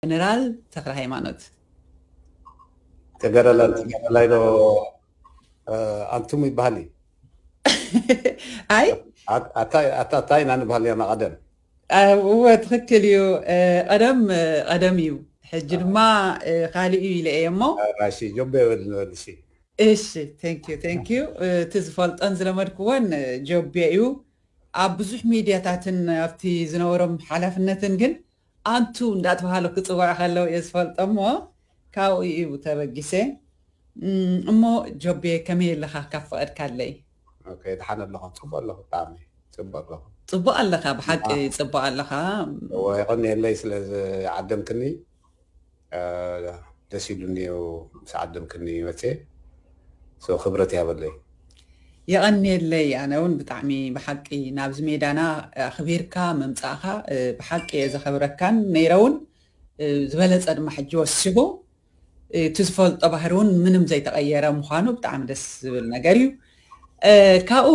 ጀነራል ተክለ ሃይማኖት። ተገረላን ተገረላይ ዶ ኣንቱም ይበሃል እዩ። ኣይ ኣታ ኣታ እንታይ ኢና ንበሃል ኔርና ቀደም? እወ ትኽክል እዩ። ቀደም ቀደም እዩ፣ ሕጂ ድማ ካልእ እዩ ኢለ እየ እሞ ራሺ ጆቤ በል ንበል እሺ። እሺ thank you thank you። እቲ ዝፈልጦን ዝለመድክዎን ጆቤ እዩ። ኣብ ብዙሕ ሚድያታትን ኣብቲ ዝነበሮም ሓላፍነትን ግን ኣንቱ እንዳተባሃሉ ክፅውዑ ከለው እየ ዝፈልጦ እሞ ካብኡ እዩ ተበጊሰ። እሞ ጆቤ ከመይ ኣለኻ ካብ ፈቐድካለይ? ደሓን ኣለኹ፣ ፅቡቅ ኣለኹ፣ ብጣዕሚ ፅቡቅ ኣለኹ። ፅቡቅ ኣለኻ፣ ብሓቂ ፅቡቅ ኣለኻ። እወ የቐንየለይ ስለ ዝዓደምክኒ፣ ደስ ኢሉኒ እዩ ምስ ዓደምክኒ መፅየ። ክብረት ያበለይ። የቐንየለይ። ኣነ እውን ብጣዕሚ ብሓቂ ናብዚ ሜዳና ኣኽቢርካ ምምፃእኻ ብሓቂ እየ ዘኸብረካን ነይረ እውን ዝበለፀ ድማ ሕጂ ወሲኹ እቲ ዝፈልጦ ባህሪ እውን ምንም ዘይተቐየረ ምዃኑ ብጣዕሚ ደስ ዝብል ነገር እዩ። ካብኡ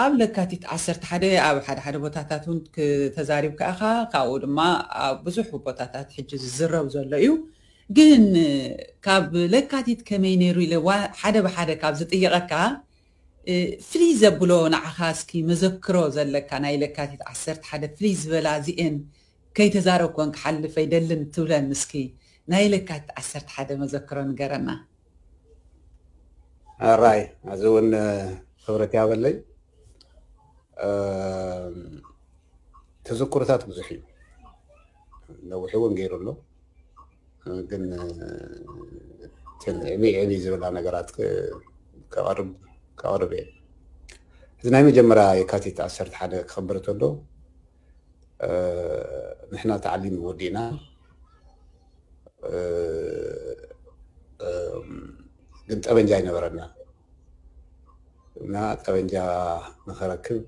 ኣብ ለካቲት ዓሰርተ ሓደ ኣብ ሓደ ሓደ ቦታታት እውን ተዛሪብካ ኢኻ። ካብኡ ድማ ኣብ ብዙሕ ቦታታት ሕጂ ዝዝረብ ዘሎ እዩ። ግን ካብ ለካቲት ከመይ ነይሩ ኢለ ሓደ ብሓደ ካብ ዝጥይቐካ ፍልይ ዘብሎ ንዓኻ እስኪ መዘክሮ ዘለካ ናይ ለካቲት ዓሰርተ ሓደ ፍልይ ዝበላ እዚኤን ከይተዛረብኩወን ክሓልፍ ኣይደልን ትብለን እስኪ ናይ ለካቲት ዓሰርተ ሓደ መዘክሮ ንገረና። ኣራይ እዚ እውን ክብረት ያበለይ። ተዘክሮታት ብዙሕ እዩ፣ ነዊሕ እውን ገይሩ ኣሎ። ግን እተን ዕብይ ዕብይ ዝብላ ነገራት ከቕርብ ከቕርብ እየ። እዚ ናይ መጀመርያ የካቲት ዓሰርተ ሓደ ክኸብር ተሎ ንሕና ተዓሊም ወዲእና፣ ግን ጠበንጃ ኣይነበረና እና ጠበንጃ ንኸረክብ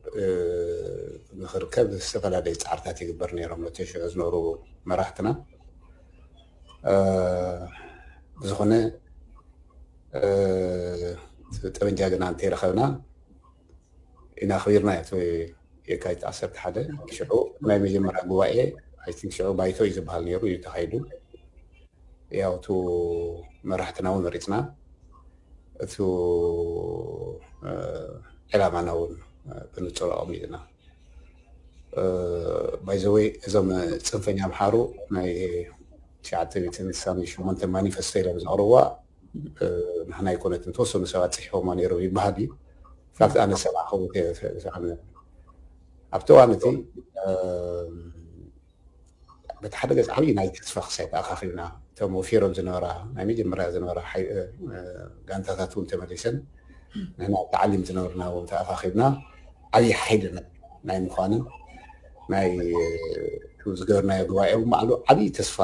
ንኽርከብ ዝተፈላለዩ ፃዕርታት ይግበር ነይሮም ነቲ ሽዑ ዝነበሩ መራሕትና። ብዝኾነ ጠበንጃ ግና እንተይረኸብና ኢና ኣኽቢርና እቲ የካቲት ዓሰርተ ሓደ። ሽዑ ናይ መጀመርያ ጉባኤ ኣይ ቲንክ ሽዑ ባይቶ እዩ ዝበሃል ነይሩ እዩ ተኻይዱ። ያው እቱ መራሕትና እውን መሪፅና፣ እቱ ዕላማና እውን ብንፁር ኣቐሚጥና። ባይዘወይ እዞም ፅንፈኛ ኣምሓሩ ናይ ትሽዓተ ሚእትን ስሳን ሸሞንተ ማኒፈስቶ ኢሎም ዘቕርብዋ ንሕና ኣይኮነትን፣ ተወሰኑ ሰባት ፅሒፎማ ነይሮም ይበሃል እዩ። ፋክት ኣነ ሰብኣኸው ኣብቲ እዋን እቲ በቲ ሓደ ገፅ ዓብዪ ናይ ተስፋ ክሳይ ተኣኻኺብና እቶም ወፊሮም ዝነበራ ናይ መጀመርያ ዝነበራ ጋንታታት እውን ተመሊሰን ንሕና ተዓሊም ዝነበርና እውን ተኣኻኺብና ዓብዪ ሓይሊ ናይ ምዃንን ናይ ዝገበርናዮ ጉባኤ እውን ባዕሉ ዓብዪ ተስፋ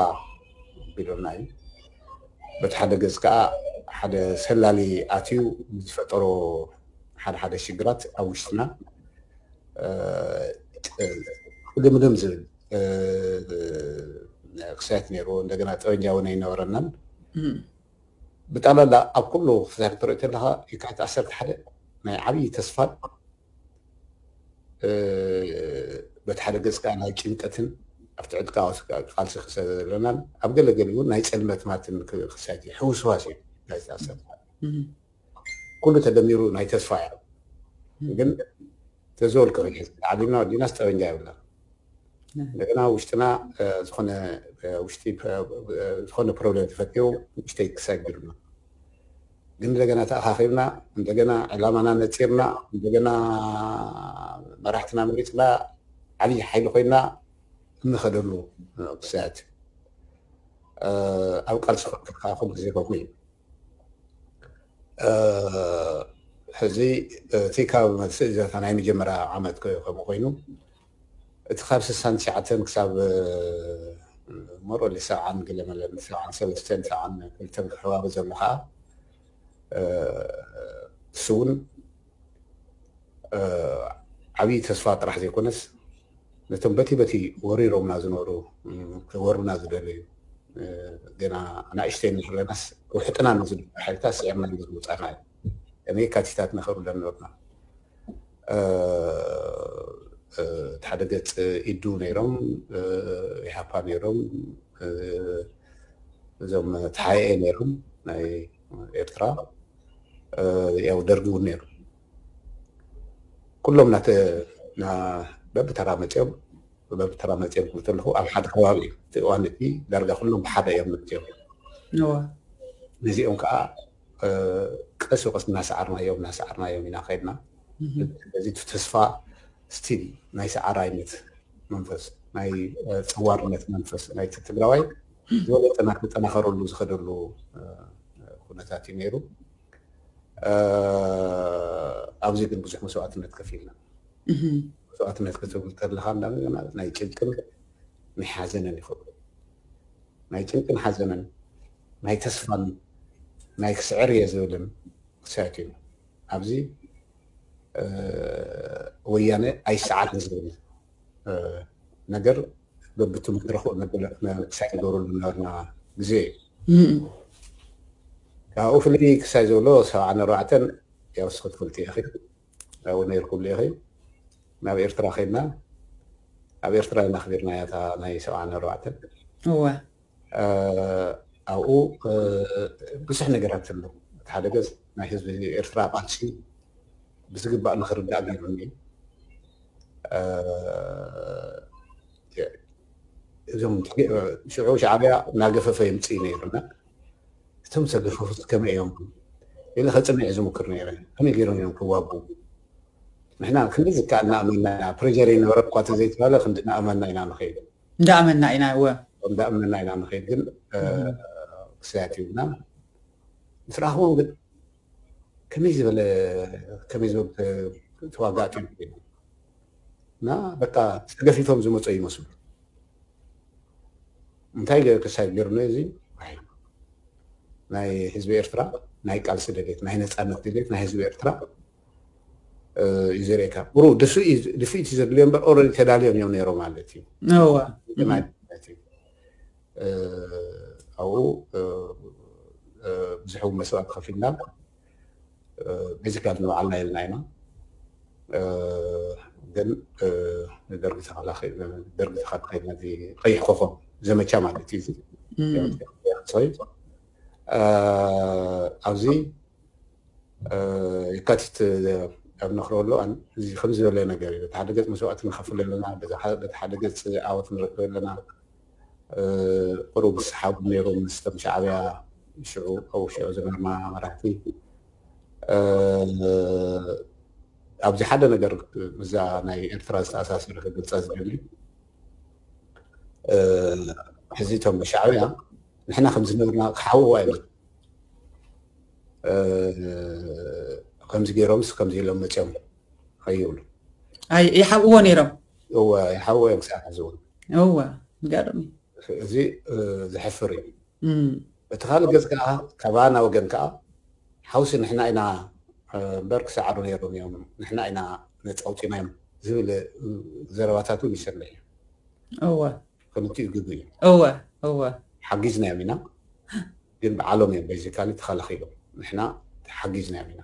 ቢሎና እዩ። በቲ ሓደ ገፅ ከዓ ሓደ ሰላሊ ኣትዩ ዝፈጠሮ ሓደ ሓደ ሽግራት ኣብ ውሽጥና ቅድምድም ዝብል ክሳየት ነይሩ። እንደገና ጠበንጃ እውን ኣይነበረናን። ብጠቕላላ ኣብ ኩሉ ክሳየት ትሪኦ ተለካ የካቲት ዓሰርተ ሓደ ናይ ዓብዪ ተስፋን በቲ ሓደ ገፅ ከዓ ናይ ጭንቀትን ኣብቲ ዕጥቃዊ ቃልሲ ክሰ ዘለናን ኣብ ገለገሊ እውን ናይ ፀልመት ማትን ክሳየት እዩ። ሕውስዋስ እዩ ናይ ዓሰርተ ሓደ ኩሉ ተደሚሩ ናይ ተስፋ እያ። ግን ተዘወልቀ ዓሊምና ወዲና ጠበንጃ የብልና። እንደገና ውሽጥና ዝኾነ ውሽጢ ዝኾነ ፕሮብሌም ተፈጢሩ ውሽተይ ክሳጊሩና ግን እንደገና ተኣኻኺብና እንደገና ዕላማና ነፂርና እንደገና መራሕትና መሪፅና ዓብዪ ሓይሊ ኮይና እንኸደሉ ክሳያት ኣብ ቃልሲ ክከፋ ኩሉ ግዜ ከምኡ እዩ። ሕዚ እቲ ካብ መልሲ እዛታ ናይ መጀመርያ ዓመት ከምኡ ኮይኑ እቲ ካብ ስሳን ትሽዓተን ክሳብ ሞሮሊ ሰብዓን ገለመለን ሰብዓን ሰለስተን ሰብዓን ክልተን ክሕባበ ዘሎ ከዓ እሱ እውን ዓብዪ ተስፋ ጥራሕ ዘይኮነስ ነቶም በቲ በቲ ወሪሮምና ዝነበሩ ክወሩና ዝደለዩ ገና ኣናእሽተይ ንሕለናስ ውሕጥና ንዝነበሩ ሓይልታት ስዒርና ንዝመፃና እዩ። ከመይ የካቲታት ንኸብርለን ነበርና። እቲ ሓደ ገፅ ኢዱ ነይሮም ኢሃፓ ነይሮም እዞም ተሓኤ ነይሮም ናይ ኤርትራ፣ ያው ደርጊ እውን ነይሩ። ኩሎም ናተ በብተራ መፅኦም በብተራ መፅኦም ክብል ከለኹ ኣብ ሓደ ከባቢ እዩ። እቲ እዋን እቲ ዳርጋ ኩሎም ብሓደ እዮም መፅኦም። ነዚኦም ከዓ ቀስ ብቀስ እናሰዓርናዮም እናሰዓርናዮም ኢና ከድና። በዚ ተስፋ ስቲል ናይ ሰዓራይነት መንፈስ ናይ ፀዋርነት መንፈስ ናይ ትግራዋይ ዝበለጠ እናተጠናኸረሉ ዝኸደሉ ኩነታት እዩ ነይሩ። ኣብዚ ግን ብዙሕ መስዋእትነት ከፊልና። መስዋእትነት ክትብል ከለካ እንዳገና ናይ ጭንቅን ናይ ሓዘንን ይኸውን። ናይ ጭንቅን ሓዘንን ናይ ተስፋን ናይ ክስዕር እየ ዝብልን ክሳየት እዩ። ኣብዚ ወያነ ኣይሰዓርን ዝብል ነገር በብቲ መድረኹ ክሳይ ንገብረሉ ነበርና ግዜ እዩ። ካብኡ ፍልይ ክሳይ ዘሎ ሰብዓን ኣርባዕተን ያው ስኽትፈልቲ ኢኺ ኣብኡ ነይርኩሉ ኢኺ። ናብ ኤርትራ ከድና ኣብ ኤርትራ ኢና ኣኽቢርናያ እታ ናይ ሰብዓን ኣርባዕተን። እወ። ኣብኡ ብዙሕ ነገራት ኣሎ። እቲ ሓደ ገጽ ናይ ህዝቢ ኤርትራ ቃልሲ ብዝግባእ ንኽርዳእ ገይሩኒ። እዞም ሽዑ ሻዕብያ እናገፈፈ የምፅእ ነይሩና። እቶም ዝተገፈፉ ከመይ እዮም ኢለ ከፅንዕ ዝምክር ነይረ። ከመይ ገይሮም እዮም ክዋጉ? ንሕና ክንዲ ዝከኣል እናኣመና ኢና። ፕሬጀር ይነበረ እኳ ተዘይተባለ ክንዲ እናኣመና ኢና ንኸይድ። እንዳኣመና ኢና። እወ። እንዳኣመና ኢና ንኸይድ። ግን ክሳያት ይብልና ምስ ረኣኽዎም ግን ከመይ ዝበለ ከመይ ዝበሉ ተዋጋእቲ እዮም ኮይኖም እና በቃ ተገፊፎም ዝመፁ ይመስሉ። እንታይ ክሳይ ገይሩኒ እዚ ናይ ህዝቢ ኤርትራ ናይ ቃልሲ ድሌት ናይ ነፃነት ድሌት ናይ ህዝቢ ኤርትራ እዩ ዘርእካ። ቁሩ ድፍኢት እዩ ዘድልዮ እምበር ኦረዲ ተዳልዮም እዮም ነይሮም ማለት እዩ። እወ። ማለት እዩ። ኣብኡ ብዙሕ እውን መስዋእቲ ከፊልና ቤዚካሊ ንባዕልና ኢልና ኢና። ግን ንደርጊ ተኸላኺ- ደርጊ ተኸላኺልና እዚ ቀይሕ ኮኾብ ዘመቻ ማለት እዩ። እዚ ኣብዚ የካቲት ኣብ ነኽረሉ እዚ ከም ዝበለ ነገር እዩ። በቲ ሓደ ገፅ መስዋእቲ ንኸፍል ኣለና፣ በቲ ሓደ ገፅ ዓወት ንረክብ ኣለና። ቁሩብ ዝሰሓቡ ነይሮም ምስቶም ሻዕብያ ሽዑ ኣብኡ ሽዑ ዝነበርና መራሕቲ። ኣብዚ ሓደ ነገር ምስዛ ናይ ኤርትራ ዝተኣሳሰረ ክገልፃ ዝደሊ ሕዚ እቶም ሻዕብያ ንሕና ከም ዝነበርና ክሓውዋ እዮም። ከምዚ ገይሮምስ ከምዚ ኢሎም መፅኦም ከይብሉ ይሓብእዎ ነይሮም። እወ ይሓብእዎ እዮም ክሳብ ሕዚ እውን። እወ ገርም እዩ። እዚ ዘሕፍር እዩ። በቲ ካልእ ገፅ ከዓ ካባና ወገን ከዓ ሓውሲ ንሕና ኢና እምበር ክሰዓሩ ነይሮም እዮም ንሕና ኢና ነፃ ኣውፂናዮም ዝብል ዘረባታት እውን ይሰምዕ እዩ። እወ ክልቲኡ ግጉ እዩ። እወ እወ ሓጊዝናዮም ኢና ግን በዓሎም እዮም ቤዚካሊ ተኸላኺሎም ንሕና ሓጊዝናዮም ኢና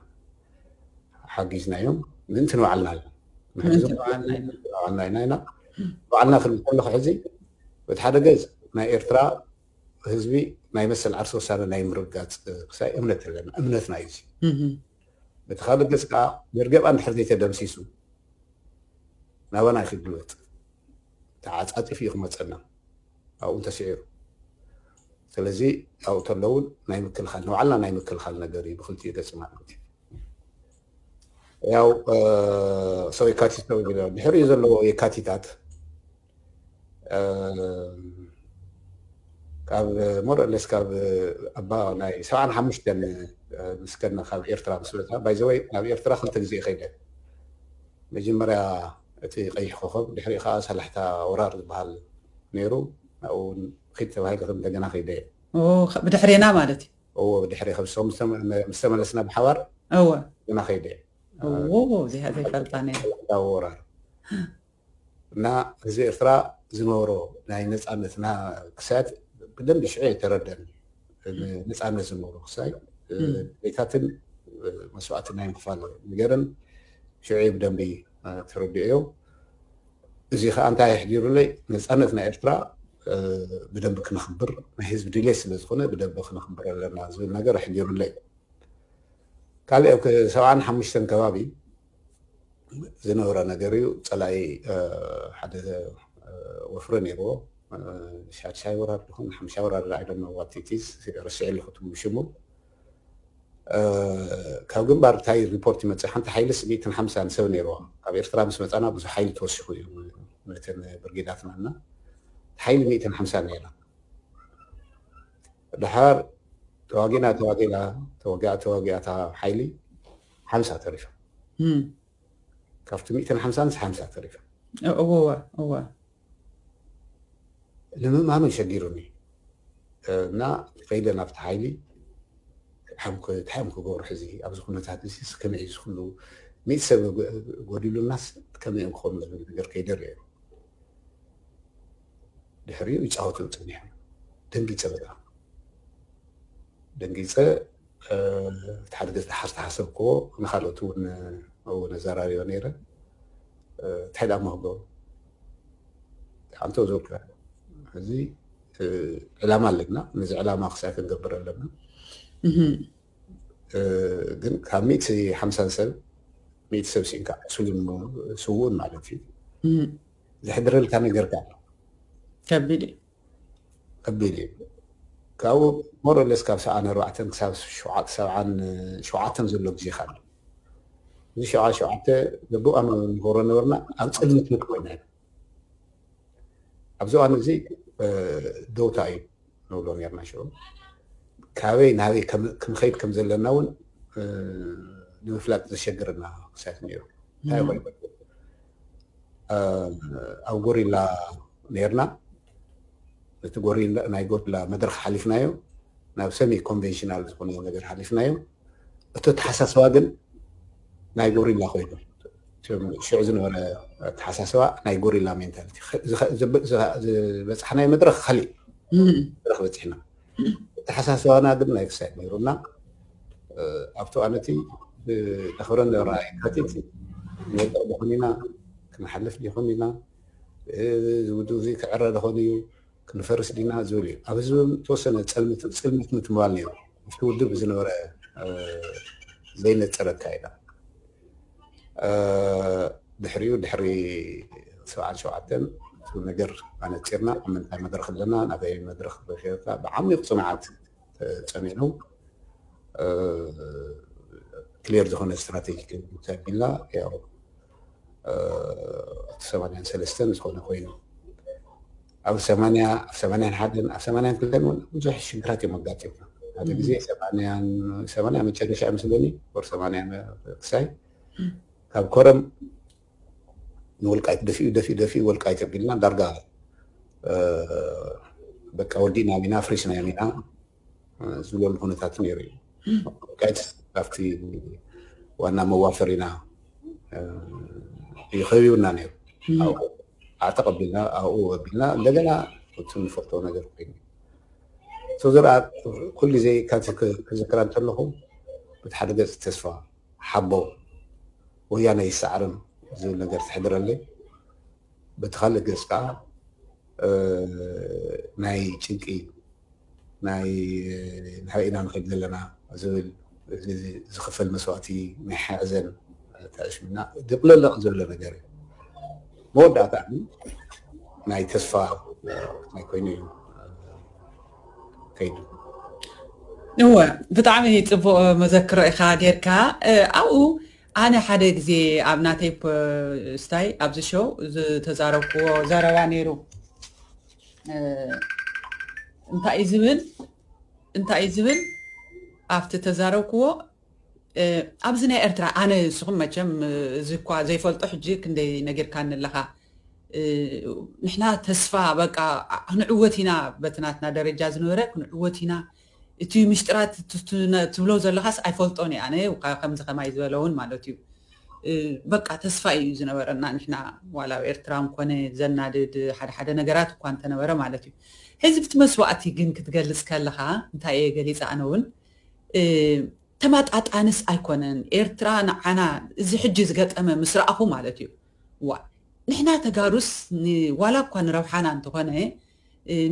ሓጊዝናዮም ምእንቲ ንባዕልና እዮም ምእንቲ ንባዕልና ኢና ባዕልና ኢና ኢና ባዕልና ክንብል ከለኹ ሕዚ በቲ ሓደ ገፅ ናይ ኤርትራ ህዝቢ ናይ መሰል ዓርሲ ውሳነ ናይ ምርጋፅ ክሳይ እምነት ኣለና እምነትና እዩ እዚ በቲ ካልእ ገፅ ከዓ ደርገብ እንድሕር ዘይተደምሲሱ ናባና ክግልበጥ ተዓፃፂፉ እዩ ክመፀና ኣብኡ እንተስዒሩ ስለዚ ኣብኡ ተለውን ናይ ምክልኻል ንባዕልና ናይ ምክልኻል ነገር እዩ ብክልቲኡ ገፅ ማለት እዩ ያው ሰው የካቲት ነው የሚለው ድሕሪኡ ዘለዎ የካቲታት ካብ ሞረለስ ካብ ኣባ ናይ ሰብዓን ሓሙሽተን ምስ ከድና ካብ ኤርትራ ምስ መፅና ባይዘወይ ናብ ኤርትራ ክልተ ግዜ ከይደ መጀመርያ እቲ ቀይሕ ኮኸብ ድሕሪ ከዓ ሳላሕታ ወራር ዝበሃል ነይሩ ኣብኡ እውን ኪድ ተባሂለ ከም እንደገና ከይደ ብድሕሬና ማለት እዩ እዎ ብድሕሪ ከብሶም ምስ ተመለስና ብሓባር እወ ገና ከይደ ዘይፈልጣ ነይረ ወራር እና ህዝቢ ኤርትራ ዝነበሮ ናይ ነፃነትና ክሳያት ብደንቢ ሽዑ የተረደን ነፃነት ዝነበሮ ክሳይ ቤታትን መስዋዕቲ ናይ ምክፋል ነገርን ሽዑ ብደንቢ ተረዲኦ እዚ ከዓ እንታይ ኣሕዲሩለይ ነፃነት ናይ ኤርትራ ብደንብ ክነኽብር ናይ ህዝቢ ድሌት ስለ ዝኾነ ብደንብ ክነኽብር ኣለና ዝብል ነገር ኣሕዲሩለይ። ካልእ ኣብ ሰብዓን ሓሙሽተን ከባቢ ዝነበረ ነገር እዩ። ጸላኢ ሓደ ወፍሪ ነይርዎ። ሻድሻይ ወራር ይኹን ሓምሻይ ወራር ኣይደኖ ዋቲቲስ ረስዐ ኣለኹ ሽሙ። ካብ ግንባር እንታይ ሪፖርት ይመፅእ? ሓንቲ ሓይሊ ሚእትን ሓምሳን ሰብ ነይርዋ። ካብ ኤርትራ ምስ መፃና ብዙሕ ሓይሊ ተወሲኹ እዩ ነተን ብርጌዳትና እና ሓይሊ ሚእትን ሓምሳን ነይራ። ድሓር ተዋጊና ተዋጊና ተዋጊኣ ተዋጊኣ እታ ሓይሊ ሓምሳ ተሪፋ። ካብቲ ሚእትን ሓምሳን ሓምሳ ተሪፋ። እወ እወ። ንምእማኑ ሸጊሩኒ እና ከይደ ናብቲ ሓይሊ ሓምኮ እንታይ እዮም ክገብሩ ሕዚ ኣብዚ ኩነታት እዚ ከመይ እዩ ዝኽሉ ሚእቲ ሰብ ጎዲሉናስ ከመይ እዮም ክኾኑ ዝብል ነገር ከይደ ርእየ። ድሕሪኡ ይፃወቱ ፀኒሖም። ደንጊፀ በጣም ደንጊፀ። እቲ ሓደ ገፅ ሓዝተሓሰብክዎ ንካልኦት እውን እውን ኣዘራሪዮ ነይረ። እንታይ ደኣ ክገብሩ ሓንቶ ዘውካ እዚ ዕላማ ኣለና። ነዚ ዕላማ ክሳይ ክንገብር ኣለና። ግን ካብ ሚእቲ ሓምሳን ሰብ ሚእቲ ሰብ ሲንካ ዕሱልን ስውኡን ማለት እዩ። ዘሕድረልካ ነገር ከ ኣሎ። ከቢድ እዩ። ከቢድ እዩ። ካብኡ ሞረለስ ካብ ሰብዓን ኣርባዕተን ክሳብ ሸውዓተ ሰብዓን ሸውዓተን ዘሎ ግዜ ካለ እዚ ሸውዓ ሸውዓተ ገቡእ ኣመ ንገብሮ ነበርና ኣብ ፅልምት ምክ ኮይና ኣብዚ እዋን እዚ ደውታ እዩ ንብሎ ነርና ሽዑ ካበይ ናበይ ክንኸይድ ከም ዘለና እውን ንምፍላጥ ዘሸግርና ክሳት ነይሩ። እንታይ ኮይኑ ኣብ ጎሪላ ነርና። እቲ ጎሪላ ናይ ጎሪላ መድረክ ሓሊፍናዮ ናብ ሰሚ ኮንቨንሽናል ዝኾነ ነገር ሓሊፍናዮ። እቲ ኣተሓሳስባ ግን ናይ ጎሪላ ኮይኑ ሽዑ ዝነበረ ኣተሓሳስባ ናይ ጎሪላ ሜንታሊቲ ዝበፅሕናዮ መድረክ ካሊእ መድረክ በፂሕና። ኣተሓሳስባና ግን ናይ ክሳይ ነይሩና። ኣብቲ ኣነቲ ነኽብረ ነበራ የካቲት ንወድቕ ዲኹን ኢና ክንሓልፍ ዲኹን ኢና ዝውድብ እዚ ክዕረ ዲኾን እዩ ክንፈርስ ዲና ዝብል እዩ። ኣብ ህዝቢ ተወሰነ ፅልምት ምትምባል ነይሩ። ኣብቲ ውድብ ዝነበረ ዘይነፀረ ኣካይዳ ድሕሪኡ ድሕሪ ሰብዓን ሸውዓተን እቲ ነገር ኣነፂርና ኣብ ምንታይ መድረክ ኣለና ናበይ መድረክ በፊርካ ብዓሚቕ ፅንዓት ፀኒዑ ክሊር ዝኾነ ስትራቴጂ ተቢልና ያው እቲ ሰማንያን ሰለስተን ዝኾነ ኮይኑ ኣብ ሰማንያ ኣብ ሰማንያን ሓደን ኣብ ሰማንያን ክልተን እውን ብዙሕ ሽግራት እዮም ኣጋጢምና። ሓደ ግዜ ሰማንያ መጨረሻ ምስለኒ ወር ሰማንያ ክሳይ ካብ ኮረም ንወልቃይት ደፊኡ ደፊኡ ደፊኡ ወልቃይት ኣቢልና ዳርጋ በቃ ወዲእና ኢና ፍሪስና ኢና ዝብለሉ ኩነታት ነይሩ እዩ። ወልቃይት ካብቲ ዋና መዋፈሪና እዩ ከቢቡና ነይሩ። ኣዕጠቕ ኣቢልና ኣብኡ ኣቢልና እንደገና እቲ ንፈልጦ ነገር ኮይኑ ዝርኣ ኩሉ ግዜ ካብዚ ክዝክራ እንተለኹ በቲ ሓደ ገፅ ተስፋ ሓቦ ወያነ ይሰዓርም ዝብል ነገር ተሕድረለይ። በቲ ካልእ ገፅ ከዓ ናይ ጭንቂ ናይ ናበይ ኢና ንኸይድ ዘለና ዝብል ዝኽፈል መስዋእቲ ናይ ሓዘን ተዕሽምና ድቕለለቕ ዝብለ ነገር እዩ። መወዳእታ ናይ ተስፋ ናይ ኮይኑ እዩ ከይዱ። እወ ብጣዕሚ ፅቡቅ መዘክሮ ኢካ ጌርካ ኣብኡ ኣነ ሓደ ግዜ ኣብ ናተይ ስታይ ኣብዚ ሾው ዝተዛረብክዎ ዘረባ ነይሩ። እንታይ እዩ ዝብል እንታይ እዩ ዝብል ኣብቲ ተዛረብክዎ ኣብዚ ናይ ኤርትራ ኣነ ንስኹም መቸም እዚ እኳ ዘይፈልጦ ሕጂ ክንደይ ነጊርካኒ ኣለኻ። ንሕና ተስፋ በቃ ክንዕወት ኢና በቲ ናትና ደረጃ ዝነበረ ክንዕወት ኢና። እቲ ምሽጥራት ትብሎ ዘለኻስ ኣይፈልጦን እየ ኣነ ከምዚ ከማይ ዝበለ እውን ማለት እዩ። በቃ ተስፋ እዩ ዝነበረና ንሕና ዋላ ኣብ ኤርትራ እንኮነ ዘናድድ ሓደ ሓደ ነገራት እኳ እንተነበረ ማለት እዩ። ሕዚ ብቲ መስዋእቲ ግን ክትገልፅ ከለኻ እንታይ እየ ገሊፀ ኣነ እውን ተማጣጣንስ ኣይኮነን ኤርትራ ንዓና እዚ ሕጂ ዝገጠመ ምስ ረኣኹ ማለት እዩ። ዋ ንሕና ተጋሩስ ዋላ እኳ ንረብሓና እንተኾነ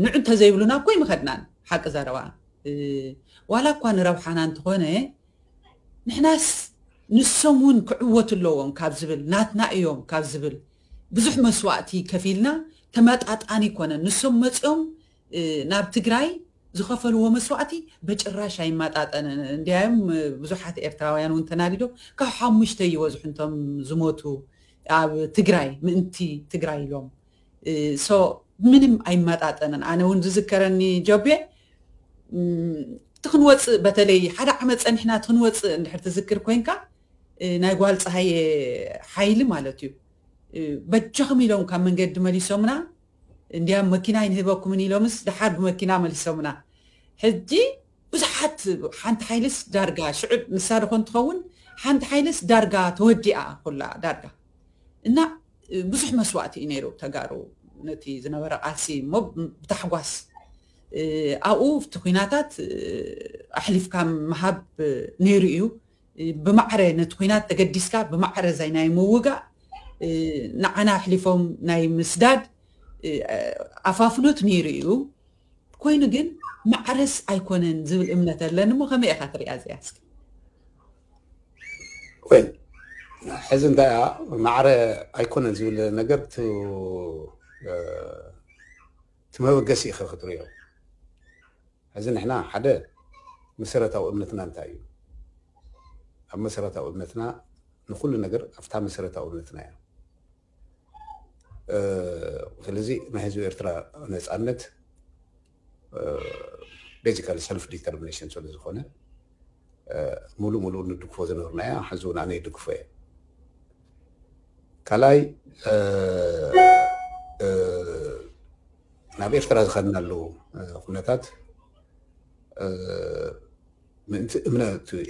ንዑ እንተዘይብሉና እኮ ይምኸድናን ሓቂ ዘረባ ዋላ እኳ ንረብሓና እንተኾነ ንሕናስ ንሶም እውን ክዕወቱ ኣለዎም ካብ ዝብል ናትና እዮም ካብ ዝብል ብዙሕ መስዋእቲ ከፊልና ተመጣጣኒ ይኮነን። ንሶም መፂኦም ናብ ትግራይ ዝኸፈልዎ መስዋእቲ በጭራሽ ኣይመጣጠንን። እንዲያም ብዙሓት ኤርትራውያን እውን ተናዲዶም ካብ ሓሙሽተ ይበዝሑ እንቶም ዝሞቱ ኣብ ትግራይ ምእንቲ ትግራይ ኢሎም ምንም ኣይመጣጠንን። ኣነ እውን ዝዝከረኒ ጆቤ ትክንወፅእ በተለይ ሓደ ዓመት ፀኒሕና ትክንወፅእ እንድሕር ትዝክር ኮይንካ ናይ ጓል ፀሃየ ሓይሊ ማለት እዩ በጃኹም ኢሎም ካብ መንገዲ መሊሶምና እንዲያ መኪና ይንህበኩምን ኢሎምስ ደሓር ብመኪና መሊሶምና ሕጂ ብዙሓት ሓንቲ ሓይልስ ዳርጋ ሽዑ ንሳ ደኾን ትኸውን ሓንቲ ሓይልስ ዳርጋ ተወዲኣ ኩላ ዳርጋ እና ብዙሕ መስዋእቲ እዩ ነይሩ ተጋሩ ነቲ ዝነበረ ቃልሲ እሞ ብታሕጓስ ኣብኡ እቲ ኩናታት ኣሕሊፍካ ምሃብ ነይሩ እዩ ብማዕረ ነቲ ኩናት ተገዲስካ ብማዕረ ዛይ ናይ ምውጋእ ንዓና ኣሕሊፎም ናይ ምስዳድ ኣፋፍኖት ነይሩ እዩ ኮይኑ ግን ማዕረስ ኣይኮነን ዝብል እምነት ኣለኒ እሞ ከመይ ኢኻ ትሪኣ እዚኣ እስኪ ወይ ሕዚ እንታይ እያ ማዕረ ኣይኮነን ዝብል ነገር እቲ መበገሲ ኢኸ ክትሪኦ ሕዚ ንሕና ሓደ መሰረታዊ እምነትና እንታይ እዩ ኣብ መሰረታዊ እምነትና ንኩሉ ነገር ኣብታ መሰረታዊ እምነትና እያ ስለዚ ናይ ህዝቢ ኤርትራ ነፃነት basically self determination ስለ ዝኾነ ሙሉእ ሙሉእ ንድግፎ ዝነበርናያ ሕዚ እውን ኣነ ይድግፎ እየ ካልኣይ ናብ ኤርትራ ዝኸድናሉ ኩነታት ምእንቲ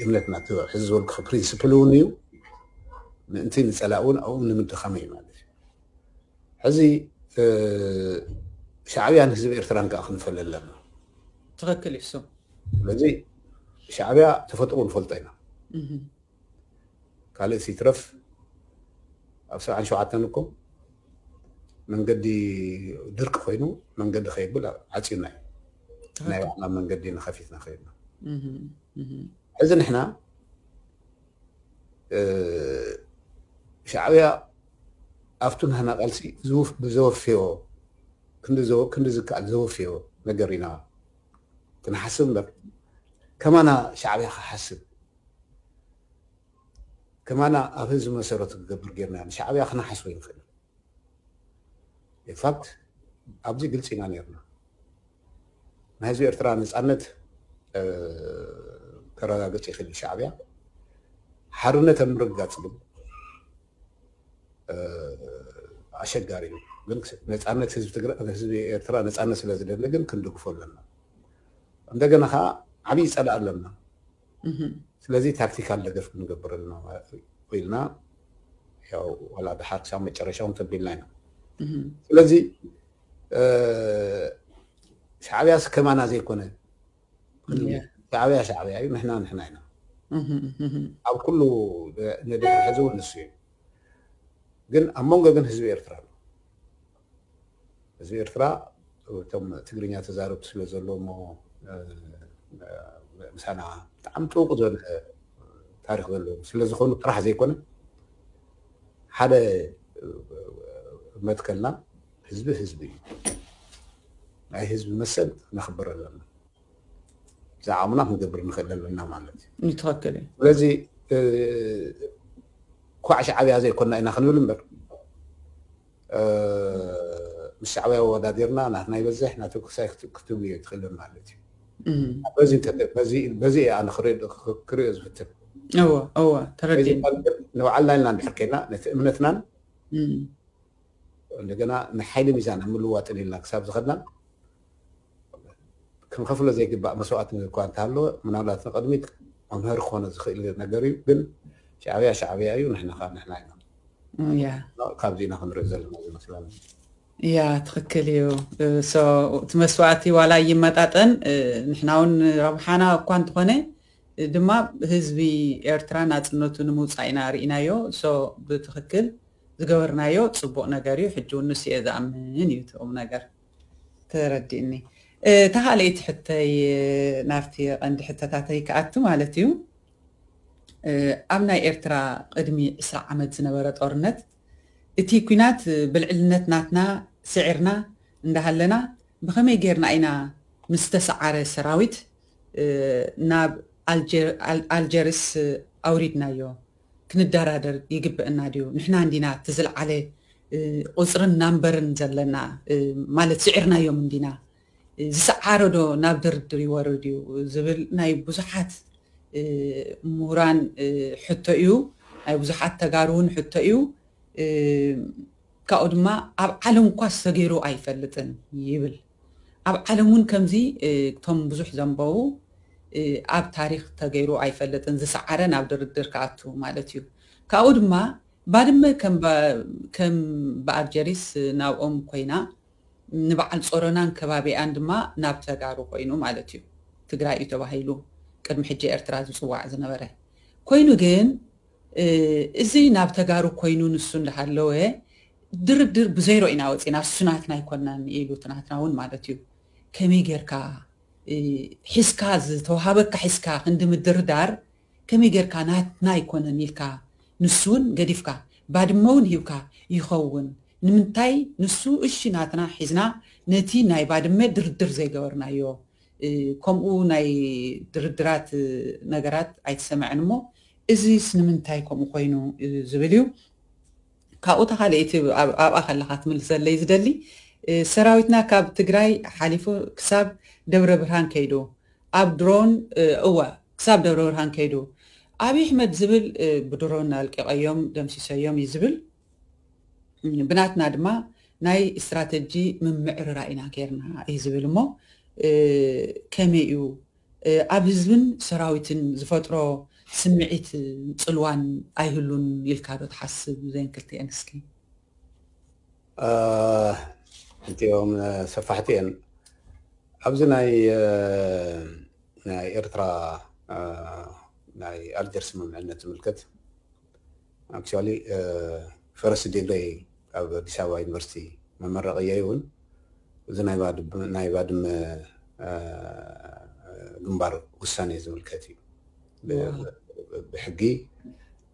እምነትና ሕዚ ዝበልኩ ፕሪንስፕል እውን እዩ ምእንቲ ንፀላእ እውን ኣብኡ ንምድኻም እዩ ማለት እዩ ሕዚ ሻዕብያን ህዝቢ ኤርትራን ከዓ ክንፈለ ኣለና ትኽክል እዩ ስለዚ ሻዕብያ ተፈጥሮ ንፈልጦ ኢና ካልእ ሲትረፍ ኣብ ሰብዓን ሸውዓተን እኮ መንገዲ ድርቂ ኮይኑ መንገዲ ከይብል ዓፅዩና እዩ ናይ ባዕልና መንገዲ ንኸፊትና ከይድና ሕዚ ንሕና ሻዕብያ ኣብቱ ናህና ቃልሲ ዝወፍዮ ክንዲ ዝከኣል ዘወፍዮ ነገር ኢና ክንሓስብ እምበር ከማና ሻዕብያ ክሓስብ ከማና ኣብ ህዝቢ መሰረቱ ክገብር ጌርና ንሻዕብያ ክነሓስቦ ይንኽእል ኢንፋክት ኣብዚ ግልፂ ኢና ነርና ናይ ህዝቢ ኤርትራ ነፃነት ከረጋግፅ ይኽእል ሻዕብያ ሓርነት ኣብ ምርግጋፅ ግን ኣሸጋሪ እዩ ግን ነፃነት ህዝቢ ትግራይ ህዝቢ ኤርትራ ነፃነት ስለ ዝደሊ ግን ክንድግፎ ኣለና እንደገና ከዓ ዓብዪ ፀላእ ኣለና ስለዚ ታክቲካል ደገፍ ክንገብር ኣለና ኢልና ያው ዋላ ድሓር ክሳብ መጨረሻ እውን ተቢልና ኢና ስለዚ ሻዕብያስ ከማና ዘይኮነ ሻዕብያ ሻዕብያ እዩ ንሕና ንሕና ኢና ኣብ ኩሉ ንድሕሪ ሕዚ እውን ንሱ እዩ ግን ኣብ መንጎ ግን ህዝቢ ኤርትራ ኣሎ ህዝቢ ኤርትራ እቶም ትግርኛ ተዛረብቲ ስለ ዘሎ እሞ ምሳና ብጣዕሚ ጥውቁ ዝበለ ታሪክ ዘለዎ ስለ ዝኾኑ ጥራሕ ዘይኮነ ሓደ መትከልና ህዝቢ ህዝቢ እዩ ናይ ህዝቢ መሰል ነኽብር ኣለና ዝዓቕምና ክንገብር ንኽእል ኣለና ማለት እዩ ትኽክል እዩ ስለዚ ኳዕ ሻዕብያ ዘይኮና ኢና ክንብል እምበር ምስ ሻዕብያ ወዳዲርና ናትና ይበዝሕ ናተኩሳይ ክትብልዮ ትኽእልን ማለት እዩ በዚ ኣነ ክሪኦ ዝፍትን እወ እወ ተረዲእ ንባዕልና ኢልና እንድሕር ከይና ነቲ እምነትናን እንደገና ንሓይሊ ሚዛን ኣብ ምልዋጥን ኢልና ክሳብ ዝኸድና ክንኸፍሎ ዘይግባእ መስዋእቲ እኳ እንተሃለወ ምናልባት ንቕድሚት መምህር ክኾነ ዝኽእል ነገር እዩ ግን ሻዕብያ ሻዕብያ እዩ ንሕና ከዓ ንሕና ኢና ያ ካብዚ ኢና ክንርኢ ዘለና ዝመስለኒ ያ ትኽክል እዩ እቲ መስዋእቲ ዋላ ይመጣጠን ንሕና እውን ረብሓና እኳ እንተኾነ ድማ ህዝቢ ኤርትራ ናፅነቱ ንምውፃእ ኢና ርኢናዮ ብትኽክል ዝገበርናዮ ፅቡቕ ነገር እዩ ሕጂ እውን ንሱ እየ ዝኣምን እዩ ትኦም ነገር ተረዲእኒ። እ፣ እታ ካልኣይቲ ሕቶይ፣ እ፣ ናብቲ ቀንዲ ሕቶታተይ ክኣቱ ማለት እዩ። እ፣ ኣብ ናይ ኤርትራ ቅድሚ ዕስራ ዓመት ዝነበረ ጦርነት፣ እቲ ኲናት፣ እ፣ ብልዕልነት ናትና ስዒርና እንዳሃለና፣ ብኸመይ ጌርና ኢና ምስ ተሰዓረ ሰራዊት፣ እ፣ ናብ ኣልጀ-፣ ኣል-፣ ኣልጀርስ፣ እ፣ ኣውሪድናዮ? ክንደራደር ይግበአና ድዩ? ንሕና እንዲና እቲ ዝለዓለ፣ እ፣ ቁጽርን ናምበርን ዘለና፣ እ፣ ማለት ስዒርናዮም እንዲና። እ፣ ዝሰዓረ ዶ ናብ ድርድር ይወርድ እዩ ዝብል ናይ ብዙሓት፣ እ፣ ምሁራን፣ እ፣ ሕቶ እዩ። ናይ ብዙሓት ተጋሩ እውን ሕቶ እዩ። እ፣ ካብኡ ድማ ኣብ ዓለም እኳ ዝተገይሩ ኣይፈልጥን ይብል። ኣብ ዓለም እውን ከምዚ፣ እ፣ እቶም ብዙሕ ዘንበቡ፣ እ፣ ኣብ ታሪኽ ተገይሩ ኣይፈልጥን፣ ዝሰዓረ ናብ ድርድር ክኣቱ ማለት እዩ። ካብኡ ድማ ባድመ ከም ባ-፣ ከም ብኣልጀሪስ ናብኦም ኮይና ንበዓል ጾሮናን ከባቢኣን ድማ ናብ ተጋሩ ኮይኑ ማለት እዩ። ትግራይ እዩ ተባሂሉ ቅድሚ ሕጂ ኤርትራ ዝጽዋዕ ዝነበረ። ኮይኑ ግን፣ እ፣ እዚ ናብ ተጋሩ ኮይኑ ንሱ እንዳሃለወ ድርድር ብዘይሮ ኢና ወፂና፣ እሱ ናትና ኣይኮናን ኢሉ፣ እቲ ናትና እውን ማለት እዩ። ከመይ ጌርካ፣ እ፣ ሒዝካ፣ ዝተዋሃበካ ሒዝካ ክንዲ ምድርዳር፣ ከመይ ጌርካ ናትና ኣይኮነን ኢልካ ንሱ እውን ገዲፍካ፣ ባድመ እውን ሂብካ ይኸውን? ንምንታይ ንሱ እሺ ናትና ሒዝና ነቲ ናይ ባድመ ድርድር ዘይገበርናዮ? እ፣ ከምኡ ናይ ድርድራት፣ እ፣ ነገራት ኣይተሰምዐን እሞ፣ እዚስ ንምንታይ ከምኡ ኮይኑ፣ እ፣ ዝብል እዩ። ካብኡ ተኻልኢቲ ኣብ-፣ ኣብኣ ከለኻ ትምልሰለይ ዝደሊ፣ እ፣ ሰራዊትና ካብ ትግራይ ሓሊፉ ክሳብ ደብረ ብርሃን ከይዱ፣ ኣብ ድሮን፣ እ፣ እወ፣ ክሳብ ደብረ ብርሃን ከይዱ፣ ኣብይ ኣሕመድ ዝብል፣ እ፣ ብድሮን ኣልቂቐዮም፣ ደምሲሰዮም እዩ ዝብል። ብናትና ድማ ናይ ስትራተጂ ምምዕርራ ኢና ጌርና እዩ ዝብል እሞ፣ እ፣ ከመይ እዩ፣ እ፣ ኣብ ህዝብን ሰራዊትን ዝፈጥሮ ስምዒት ጽልዋን ኣይህሉን ኢልካ ዶ ትሓስብ? ዘን ክልቲኤን እስኪ። እ፣ እቲኦም፣ እ፣ ሰፋሕቲ እየን። ኣብዚ ናይ፣ እ፣ ናይ ኤርትራ፣ እ፣ ናይ ኣልጀርስ ስምምዕነት ዝምልከት፣ ኣክቹዋሊ፣ እ፣ ፈረስት ዲግሪ ኣብ ኣዲስ ኣበባ ዩኒቨርሲቲ መመረቕየይ እውን እዚ ናይ ባድመ፣ ናይ ባድመ፣ እ፣ ግንባር ውሳኔ ዝምልከት እዩ። ብ-፣ ዋው። ብሕጊ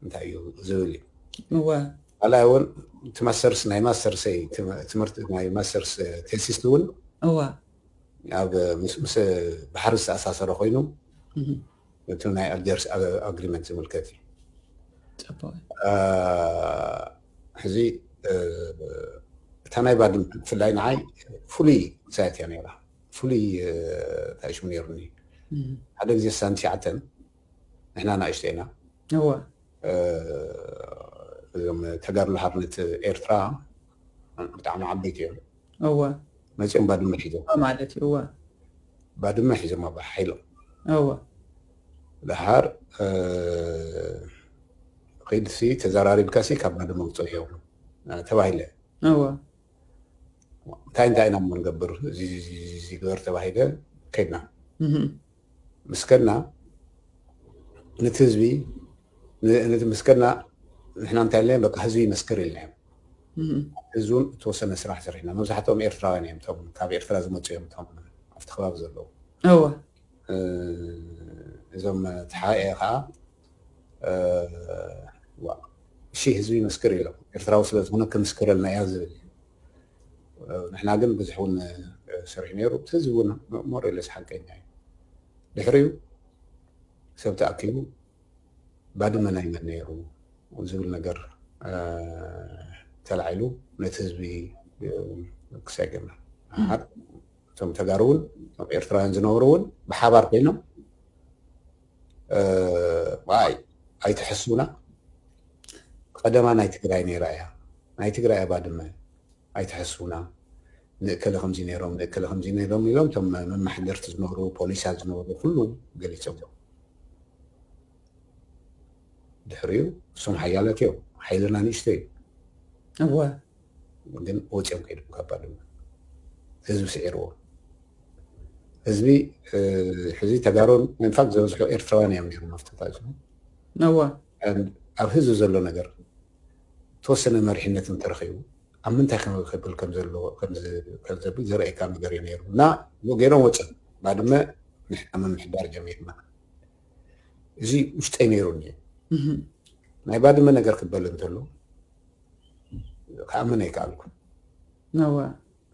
እንታይ እዩ ዝብል እዩ። እወ። ካልኣይ እውን እቲ ማስተርስ፣ ናይ ማስተርስ ትም-፣ ትምህርቲ፣ ናይ ማስተርስ ቴሲስ እውን እወ። ኣብ ምስ፣ ምስ ባሕሪ ዝተኣሳሰረ ኮይኑ፣ እህ። እቲ ናይ ኣልጀርስ ኣ-፣ ኣግሪመንት ዝምልከት እዩ። ጽቡቕ። እ፣ ሕዚ፣ እ፣ እታ ናይ ባድመ ብፍላይ ንዓይ ፍሉይ ሳይት እያ ነይራ። ፍሉይ፣ እ፣ እንታይ ሽሙ ነይሩኒ። እህ። ሓደ ግዜ ሳን ትሽዓተን ንሕና ንኣሽቱ ኢና። እወ። እ፣ እዞም ተጋድሎ ሓርነት ኤርትራ ብጣዕሚ ዓበይቲ እዮም። እወ። መጺኦም ባድመ ሒዞም። እወ ማለት እዩ፣ እወ። ባድመ ሒዞም ኣብ ሓይሎም። እወ። ደሓር፣ እ፣ ኺድሲ ተዘራሪብካሲ ካብ ባድመ ውጽእ እዮም፣ እ፣ ተባሂለ። እወ። እንታይ እንታይ ኢና እሞ ንገብር? እዚ፣ እዚ፣ እዚ፣ እዚ ግበር ተባሂለ ከድና። እህ። ምስ ከድና ነቲ ህዝቢ፣ ን-፣ ነቲ ምስ ከድና ንሕና እንታይ ኢልና፣ በቃ ህዝቢ ይመስክር ኢልናዮም። እህ። ህዝቢ እውን እተወሰነ ስራሕ ሰሪሕና። መብዛሕትኦም ኤርትራውያን እዮም፣ እቶም ካብ ኤርትራ ዝመጹ እዮም፣ እቶም ኣብቲ ከባቢ ዘለዉ። እወ። እ፣ እዞም ተሓኤ ኸዓ፣ እ፣ ዋ፣ እሺ ህዝቢ ይመስክር ኢሎም። ኤርትራዊ ስለ ዝኾነ ክምስክረልና እያ ዝብል እዩ። እ፣ ንሕና ግን ብዙሕ እውን፣ እ፣ ሰሪሑ ነይሩ። እቲ ህዝቢ እውን ሞር ኢለስ ሓቀኛ እዩ። ድሕሪኡ ሰብ ተኣኪቡ ባድመ ናይ መን ነይሩ ዝብል ነገር፣ እ፣ ተላዒሉ ነቲ ህዝቢ፣ እ፣ ክሳይ ገና እም። ሓር-፣ እቶም ተጋሩ እውን፣ እቶም ኤርትራውያን ዝነበሩ እውን ብሓባር ኮይኖም፣ እ፣ ዋይ፣ ኣይትሐስቡና፣ ቀደማ ናይ ትግራይ ነይራ እያ፣ ናይ ትግራይ እያ ባድመ፣ ኣይትሐስቡና፣ ንእከለ ከምዚ ነይሮም፣ ንእከለ ከምዚ ነይሮም ኢሎም እቶም መማሕደርቲ ዝነበሩ፣ ፖሊሳት ዝነበሩ ኩሉ ገሊጾም። ድሕሪኡ እሶም ሓያላት እዮም፣ ሓይልና ንእሽቶ እዩ። እወ። ግን ወፂኦም ከይዶም ካብ ባድመ። ህዝቢ ስዒርዎ። ህዝቢ፣ እ፣ ሕዚ ተጋሩን ኢንፋክት ዝበዝሑ ኤርትራውያን እዮም ነይሮም ኣብቲ ቦታ እዚ። እወ። And ኣብ ህዝቢ ዘሎ ነገር ተወሰነ መሪሕነት እንተረኺቡ፣ ኣብ ምንታይ ከብል ከም ዘለዎ ከም ዘብል ዘርእየካ ነገር እዩ ነይሩ። እና ገይሮም ወፅን ባድመ ምምሕዳር ጀሚርና። እዚ ውሽጠይ ነይሩኒ። ናይ ባድመ ነገር ክበል እንተሎ ክኣምን ኣይከኣልኩ።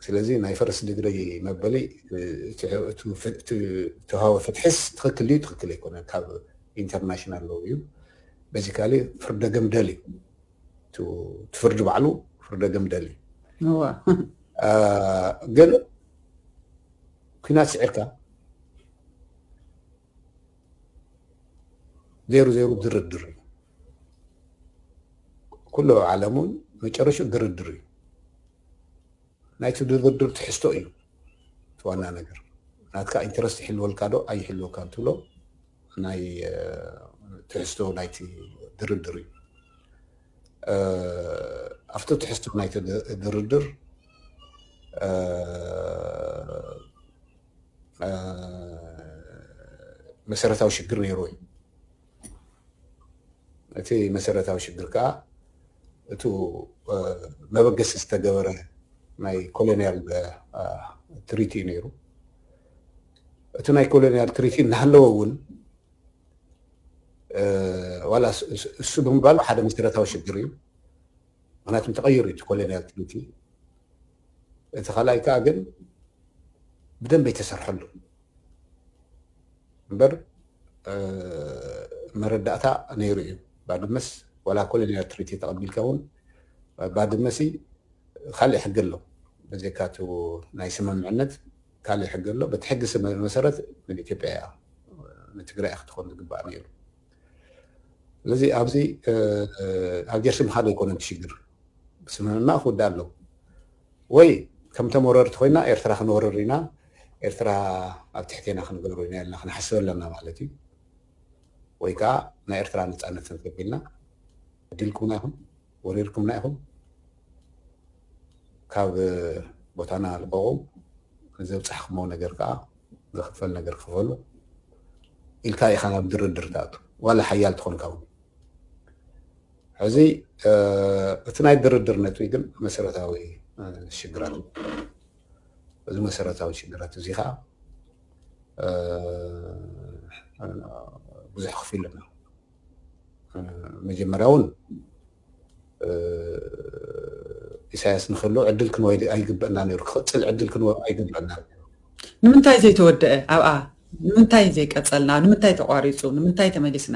ስለዚ ናይ ፈርስት ዲግሪ መበሊ ተሃወ ፍትሕስ ትኽክል ድዩ ትኽክል ኣይኮነ ካብ ኢንተርናሽናል ሎው እዩ። በዚካሊ ፍርደ ገምደል እዩ። እቲ ፍርዲ ባዕሉ ፍርደ ገምደል እዩ። ግን ኩናት ስዒርካ ዜሩ ዜሩ ድርድር እዩ። ኩሉ ዓለም እውን መጨረሹ ድርድር እዩ። ናይቲ ድርድር ትሕዝቶ እዩ እቲ ዋና ነገር። ናትካ ኢንተረስት ይሕልወልካ ዶ ኣይሕልወካ ትብሎ ናይ ትሕዝቶ ናይቲ ድርድር እዩ። ኣብቲ ትሕዝቶ ናይቲ ድርድር መሰረታዊ ሽግር ነይሩ እዩ። እቲ መሰረታዊ ሽግር ከዓ እቱ መበገሲ ዝተገበረ ናይ ኮሎኒያል ትሪቲ እዩ ነይሩ። እቲ ናይ ኮሎኒያል ትሪቲ እናሃለወ እውን ዋላ እሱ ብምባሉ ሓደ መሰረታዊ ሽግር እዩ። ምክንያቱም ተቐይሩ እቲ ኮሎኒያል ትሪቲ። እቲ ካልኣይ ከዓ ግን ብደንብ ኣይተሰርሐሉ እምበር መረዳእታ ነይሩ እዩ። ባድመስ ዋላ ኮሎኒያል ትሪቲ ተቐቢልካ እውን ባድመሲ ካልእ ሕጊ ኣሎ። በዘካቱ ናይ ስምምዕነት ካልእ ሕጊ ኣሎ። በቲ ሕጊ መሰረት ንኢትዮጵያ እያ ንትግራይ ክትኾን ዝግባእ ነይሩ። ስለዚ ኣብዚ ኣልጀርሲ ምኻድ ኣይኮነን ሽግር። ስምምዕ ክውዳእ ኣለዎ ወይ ከም ተመረርቲ ኮይና ኤርትራ ክንወርር ኢና፣ ኤርትራ ኣብ ትሕቴና ክንገብሮ ኢና ኢልና ክንሓስብ ኣለና ማለት እዩ። ወይ ከዓ ናይ ኤርትራ ነፃነት ክንረክብ ኢልና ዕድልኩምና ኢኹም ወሪርኩምና ኢኹም ካብ ቦታና ልቀቑ፣ ንዘብፃሕኩሞ ነገር ከዓ ዝኽፈል ነገር ክፈሉ ኢልካ ኢኻ ናብ ድርድር ትኣቱ ዋላ ሓያል ትኾንካ እውን። ሕዚ እቲ ናይ ድርድር ነጥቢ ግን መሰረታዊ ሽግራት እዚ መሰረታዊ ሽግራት እዚ ከዓ ብዙሕ ክፍልና መጀመርያ እውን ኢሳያስ ንክህሉ ዕድል ክንወ ኣይግበአና ነይሩ ክቅፅል ዕድል ክንወ ኣይግበአና። ንምንታይ ዘይተወደአ ኣብኣ ንምንታይ ዘይቀፀልና ንምንታይ ተቋሪፁ ንምንታይ ተመሊስና?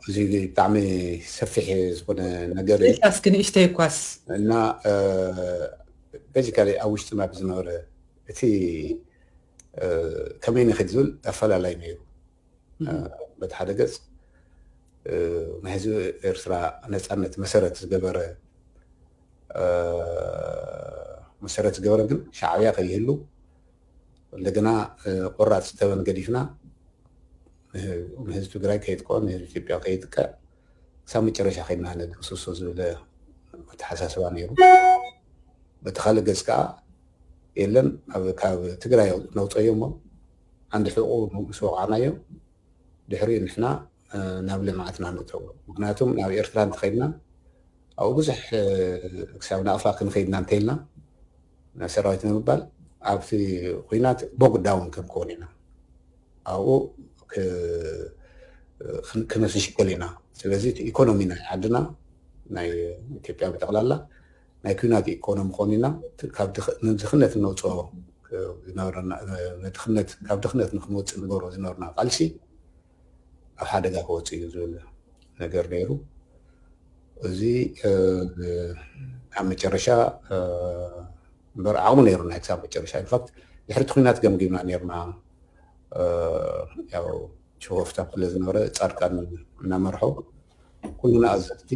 እዚ ብጣዕሚ ሰፊሕ ዝኾነ ነገር እዩ። እስኪ ንእሽተይ እኳስ እና በዚካ ኣብ ውሽጥና ብዝነበረ እቲ ከመይ ንክድ ዝብል ኣፈላላይ ነይሩ። በቲ ሓደ ገፅ ናይ ህዝቢ ኤርትራ ነፃነት መሰረት ዝገበረ መሰረት ዝገበረ ግን ሻዕብያ ከይህሉ እንደገና ቆራፅ ተበን ገዲፍና ንህዝቢ ትግራይ ከይጥቀ ንህዝቢ ኢትዮጵያ ከይጥቀ ክሳብ መጨረሻ ከይድና ነደምስሶ ዝብል ኣተሓሳስባ ነይሩ። በቲ ካልእ ገፅ ከዓ የለን ካብ ትግራይ ነውፀዮ እሞ ዓንዲ ሕቁ ምስ ወቃዕናዮ ድሕሪኡ ንሕና ናብ ልምዓትና ንእተው። ምክንያቱም ናብ ኤርትራ እንተኸይድና ኣብኡ ብዙሕ ክሳብ ናቕፋ ክንኸይድና እንተኢልና ሰራዊት ንምባል ኣብቲ ኩናት ቦግ ዳውን ክንከውን ኢና። ኣብኡ ክነስሽከል ኢና። ስለዚ እቲ ኢኮኖሚ ናይ ዓድና ናይ ኢትዮጵያ ብጠቕላላ ናይ ኩናት ኢኮኖሚ ኮኒና ካብ ድኽነት ነውፅኦ ዝነበረና ድኽነት ካብ ድኽነት ንክንወፅእ ንገብሮ ዝነበርና ቃልሲ ኣብ ሓደጋ ክወፅእ እዩ ዝብል ነገር ነይሩ። እዚ ኣብ መጨረሻ እምበር ዓቕሙ ነይሩና ክሳብ መጨረሻ ኢንፋክት ድሕሪ ኩናት ገምጊምና ነይርና። ያው ችወፍታ ስለ ዝነበረ ፃድቃን እናመርሖ ኩሉና ኣዘዝቲ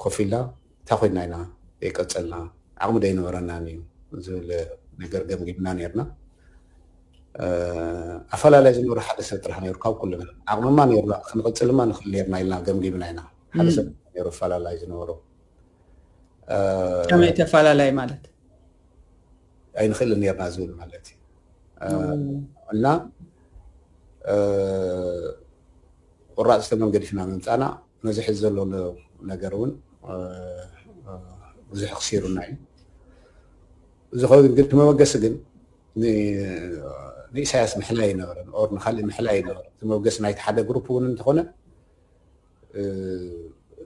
ኮፍ ኢልና እንታይ ኮይና ኢና ዘይቀፀልና ዓቕሚ ዶ ኣይነበረናን እዩ ዝብል ነገር ገምጊምና ነይርና። ኣፈላላይ ዝነበረ ሓደ ሰብ ጥራሕ ነይሩ ካብ ኩልና ዓቕምማ ነይሩና ክንቐፅልማ ንኽእል ነይርና ኢልና ገምጊምና ኢና። ሓደ ሰብ ነይሩ ኣፈላላይ ዝነበሮ ከመይ ተፈላላይ ማለት ኣይንኽእልን ነርና ዝብል ማለት እዩ እና ቁራፅ ዝተመንገዲፍና ምምፃና ነዚ ሕዚ ዘሎ ነገር እውን ብዙሕ ክሲሩና እዩ። ዝኸውን ግን እቲ መበገሲ ግን ንኢሳያስ ምሕላይ ኣይነበረን፣ ኦር ንካልእ ምሕላይ ኣይነበረን። እቲ መበገሲ ናይቲ ሓደ ግሩፕ እውን እንተኾነ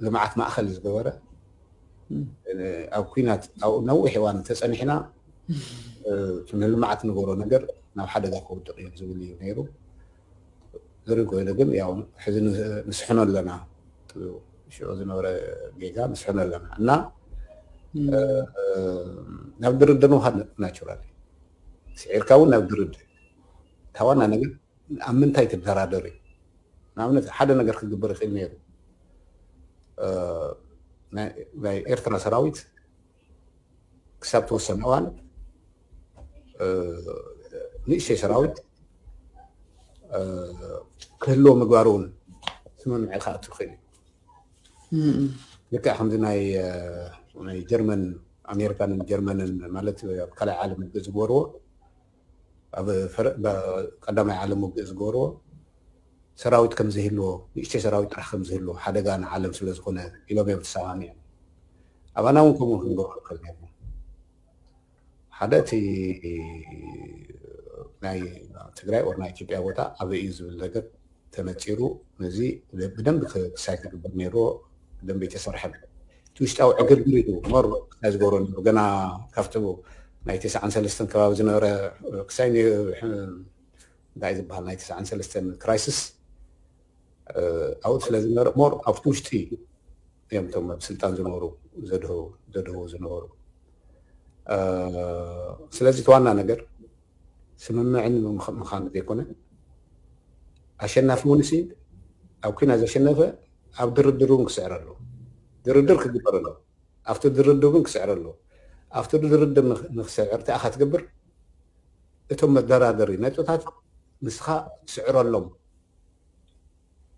ልምዓት ማእኸል ዝገበረ፣ ኣብ ኩናት ኣብኡ ነዊሕ እዋን ተፀኒሕና፣ እቲ ንልምዓት ንገብሮ ነገር ናብ ሓደጋ ክወድቕ እዩ ዝብል እዩ ነይሩ። ዝርኢ ኮይኑ ግን ያው ሕዚ ንስሕኖ ኣለና፣ ሽዑ ዝነበረ ጌጋ ንስሕኖ ኣለና እና ናብ ድርድር ምኻድ ናቹራል፣ ስዒርካ እውን ናብ ድርድር። እታ ዋና ነገር ኣብ ምንታይ ትደራደር እዩ። ንኣብነት ሓደ ነገር ክግበር ይኽእል ነይሩ። ናይ ኤርትራ ሰራዊት ክሳብ ተወሰነ እዋን ንእሽተይ ሰራዊት ክህልዎ ምግባር እውን ስምምዕ ክኣቱ ይኽእል እዩ። ልክዕ ከምዚ ናይ ጀርመን፣ ኣሜሪካን ጀርመንን ማለት ኣብ ካልኣይ ዓለም ውግእ ዝገበርዎ፣ ኣብ ቀዳማይ ዓለም ውግእ ዝገበርዎ ሰራዊት ከም ዘይህልዎ፣ ንእሽተይ ሰራዊት ጥራሕ ከም ዝህልዎ፣ ሓደጋ ንዓለም ስለ ዝኾነ ኢሎም እዮም ተሰማሚዖም። ኣባና እውን ከምኡ ክንገብሮ ንኽእል ነርና። ሓደ እቲ ናይ ትግራይ ኦር ናይ ኢትዮጵያ ቦታ ኣበይ እዩ ዝብል ነገር ተነፂሩ፣ ነዚ ብደንቢ ክሳይ ክግበር ነይርዎ። ብደንቢ ኣይተሰርሐን። እቲ ውሽጣዊ ዕግርግር እዩ ሞር ክሳይ ዝገብሮ ነይሩ። ገና ካብቲ ናይ ተስዓን ሰለስተን ከባቢ ዝነበረ ክሳይ እንታይ ዝበሃል ናይ ተስዓን ሰለስተን ክራይሲስ ኣብኡ ስለ ዝነበረ ሞር ኣብቲ ውሽጢ እዮም እቶም ኣብ ስልጣን ዝነበሩ ዘድህቡ ዝነበሩ። ስለዚ እቲ ዋና ነገር ስምምዕን ምዃኑ ዘይኮነ፣ ኣሸናፊ እውን ሲ ኣብ ኩናት ዘሸነፈ ኣብ ድርድር እውን ክስዕር ኣለዎ። ድርድር ክግበር ኣለዎ። ኣብቲ ድርድር እውን ክስዕር ኣለዎ። ኣብቲ ድርድር ንክስዕር እንታይ ኢኻ ትገብር? እቶም መደራደሪ ነጥብታት ንስኻ ትስዕረሎም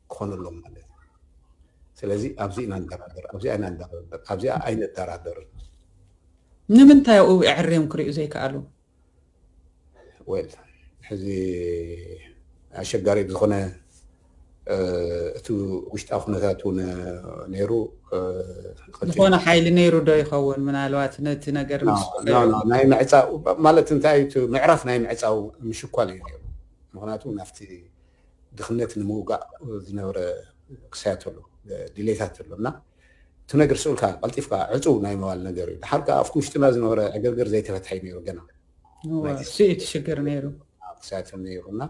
ክኾነሎም ማለት እዩ። ስለዚ ኣብዚ ኢና ንደራደር፣ ኣብዚ ኢና ንደራደር፣ ኣብዚኣ ኣይንደራደርን። ንምንታይ ኣብኡ ኣዕርዮም ክሪኡ ዘይከኣሉ? ወል ሕዚ ኣሸጋሪ ብዝኾነ እቲ ውሽጣዊ ኩነታት እውን ነይሩ። ዝኾነ ሓይሊ ነይሩ ዶ ይኸውን? ምናልባት ነቲ ነገር ናይ ምዕፃው ማለት እንታይ እዩ? ምዕራፍ ናይ ምዕፃው ምሽኳል እዩ ነይሩ። ምክንያቱ ናብቲ ድኽነት ንምውጋእ ዝነበረ ክሳያት ኣሎ፣ ድሌታት ኣሎ እና እቲ ነገር ስኡልካ ቀልጢፍካ ዕፁ ናይ መባል ነገር እዩ። ድሓር ከዓ ኣብቲ ውሽጥና ዝነበረ ዕግርግር ዘይተፈትሐ እዩ ነይሩ ገና ስኢት ሽግር ነይሩ። ክሳያት ነይሩ እና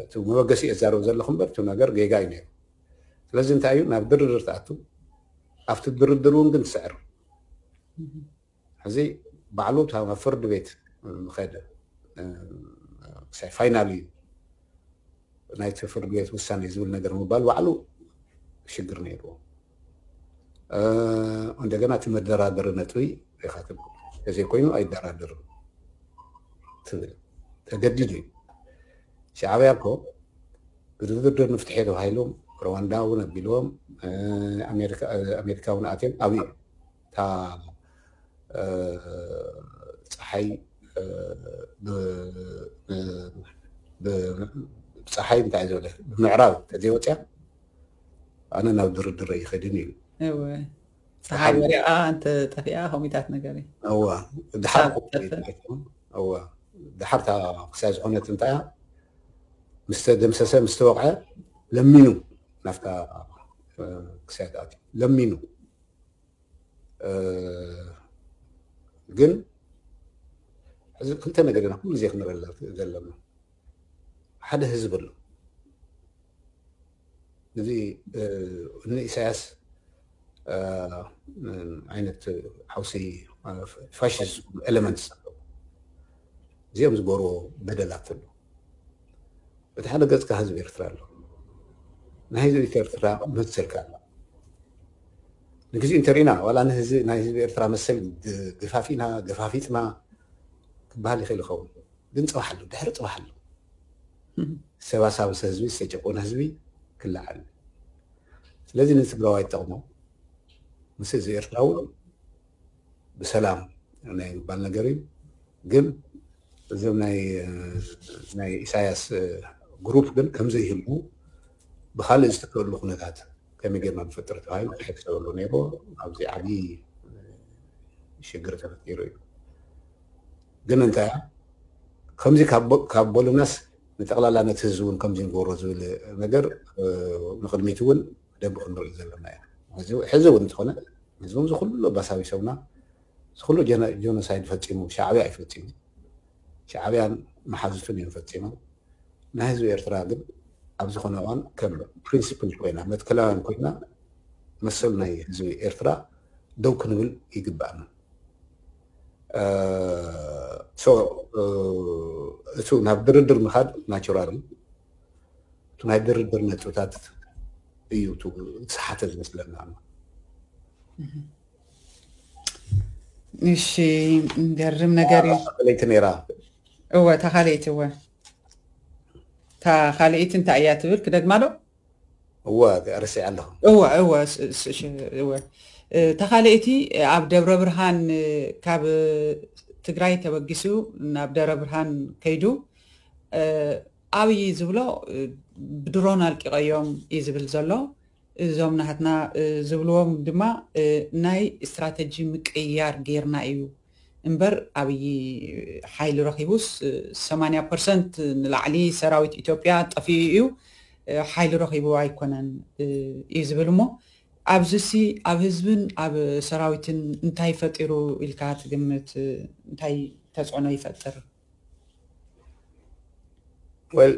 እቲ መበገሲ እየ ዝዛረብ ዘለኹ እምበር እቲ ነገር ጌጋ እዩ ነይሩ። ስለዚ እንታይ እዩ ናብ ድርድር ትኣቱ፣ ኣብቲ ድርድር እውን ግን ትስዕር። ሕዚ ባዕሉ እታ ናብ ፍርዲ ቤት ምኸደ ክሳይ ፋይናል እዩ ናይቲ ፍርዲ ቤት ውሳኔ ዝብል ነገር ምባል ባዕሉ ሽግር ነይርዎ። እንደገና እቲ መደራደሪ ነጥቢ ኢኻ ትብል፣ ተዘይኮይኑ ኣይደራደርን ትብል ተገዲዱ እዩ። ሻዕብያ እኮ ብድርድር ንፍትሒ ተባሂሎም ሩዋንዳ እውን ኣቢልዎም፣ ኣሜሪካ እውን ኣትዮም ኣብኡ እታ ፀሓይ ብፀሓይ እንታይ ዝበለ ብምዕራብ ተዘይወፅያ ኣነ ናብ ድርድር ይኸድን እዩ። ፀሓይ ወሪቓ እንተ ጠፊኣ ከምኡታት ነገር እዩ። እዋ ድሓር እዋ ድሓር እታ ክሳይ ዝኾነት እንታይ ምስ ተደምሰሰ ምስ ተወቕዐ ለሚኑ ናብታ ክሳይ ኣትዩ ለሚኑ ግን ሕዚ ክልተ ነገር ኢና ኩሉ ግዜ ክንረዳ ዘለና። ሓደ ህዝቢ ኣሎ። እዚ ንኢሳያስ ዓይነት ሓውሲ ፋሽስት ኤለመንትስ ኣለዉ። እዚኦም ዝገርዎ በደላት ኣሎ። በቲ ሓደ ገፅካ ህዝቢ ኤርትራ ኣሎ። ናይ ህዝቢ ኤርትራ መሰልካ ኣሎ። ንግዜኡ እንተሪእና ዋላ ናይ ህዝቢ ኤርትራ መሰል ገፋፊና ገፋፊጥና ክበሃል ይኽእል ይኸውን፣ ግን ፅባሕ ኣሎ፣ ድሕሪ ፅባሕ ኣሎ። ዝተባሳበሰ ህዝቢ ዝተጨቆነ ህዝቢ ክለዓል። ስለዚ ንትግራዋይ ይጠቕሞ ምስ ህዝቢ ኤርትራ እውን ብሰላም ናይ ምባል ነገር እዩ። ግን እዞም ናይ ኢሳያስ ግሩፕ ግን ከምዘይህልዉ ብካልእ ዝትከሉ ኩነታት ከመይ ጌርና ንፈጥር ተባሂሉ ክሕሰበሉ ነይሩ። ኣብዚ ዓብዪ ሽግር ተፈጢሩ እዩ። ግን እንታይ ከምዚ ካብ በሉናስ ንጠቕላላ ነቲ ህዝቢ እውን ከምዚ ንገብሮ ዝብል ነገር ንቕድሚት እውን ደንብ ክንርኢ ዘለና እዩ። ሕዚ እውን እንተኾነ ህዝቢ እዚ ኩሉ ኣባሳቢሶምና እዚ ኩሉ ጀኖሳይድ ፈፂሙ ሻዕብያ እዩ ፈፂሙ። ሻዕብያን መሓዙቱን እዮም ፈፂሞም። ናይ ህዝቢ ኤርትራ ግን ኣብ ዝኾነ እዋን ከም ፕሪንሲፕል ኮይና መትከላውያን ኮይና መሰል ናይ ህዝቢ ኤርትራ ደው ክንብል ይግባእና። እቱ ናብ ድርድር ምኻድ ናቹራል እዩ። እቱ ናይ ድርድር ነጥብታት እዩ ዝሓተ ዝመስለና። እሺ፣ ገርም ነገር እዩ። ለይቲ ነይራ። እወ፣ እታ ካልኣይቲ፣ እወ፣ እታ ካልኣይቲ እንታይ እያ ትብል ክደግማ ዶ? እወ፣ ረሲዐ ኣለኹ። እወ፣ እወ፣ እወ። እታ ካልኣይቲ ኣብ ደብረ ብርሃን፣ ካብ ትግራይ ተበጊሱ ናብ ደብረ ብርሃን ከይዱ ኣብይ ዝብሎ ብድሮን ኣልቂቐዮም እዩ ዝብል ዘሎ። እዞም ናህትና ዝብልዎም ድማ ናይ ስትራተጂ ምቅያር ጌርና እዩ እምበር ኣብይ ሓይሊ ረኺቡስ ሰማንያ ፐርሰንት ንላዕሊ ሰራዊት ኢትዮጵያ ጠፊኡ እዩ፣ ሓይሊ ረኺቡ ኣይኮነን እዩ ዝብል። እሞ ኣብዚሲ ኣብ ህዝብን ኣብ ሰራዊትን እንታይ ፈጢሩ ኢልካ ትግምት? እንታይ ተፅዕኖ ይፈጥር? ወል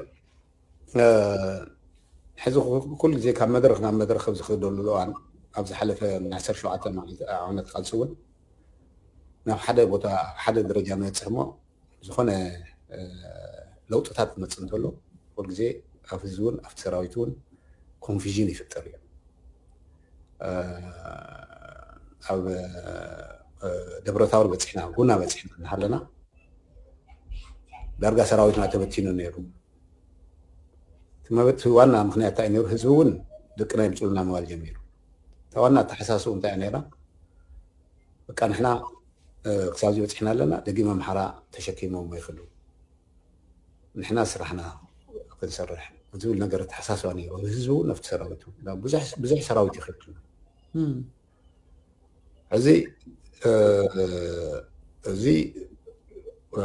ሕዚ ኩሉ ግዜ ካብ መድረኽ ናብ መድረኽ ኣብ ዝኽደሉ እዋን ኣብ ዝሓለፈ ናይ ዓሰርተ ሸውዓተ ዓመት ቃልሲ እውን ናብ ሓደ ቦታ ኣብ ሓደ ደረጃ ንበፅሕ እሞ ዝኾነ ለውጥታት ክመፅእ እንተሎ ኩሉ ግዜ ኣብ ህዝቢ እውን ኣብቲ ሰራዊት እውን ኮንፊዥን ይፍጠር እዩ። ኣብ ደብረታወር በፂሕና ጉና በፂሕና እናሃለና ዳርጋ ሰራዊትና ተበቲኑ ነይሩ። እቲ ዋና ምክንያት እንታይ ነይሩ? ህዝቢ እውን ደቅና ይምፅኡልና ምባል ጀሚሩ። እታ ዋና ኣተሓሳስቡ እንታይ ነይራ? በቃ ንሕና ክሳብዚ በፂሕና ኣለና፣ ደጊም ኣምሓራ ተሸኪሞም ይኽሉ፣ ንሕና ስራሕና ክንሰርሕ ዝብል ነገር ኣተሓሳስባ ነይሩ። ህዝቢ እውን ኣብቲ ሰራዊቱ ብዙሕ ሰራዊት ይኽል። እዚ እዚ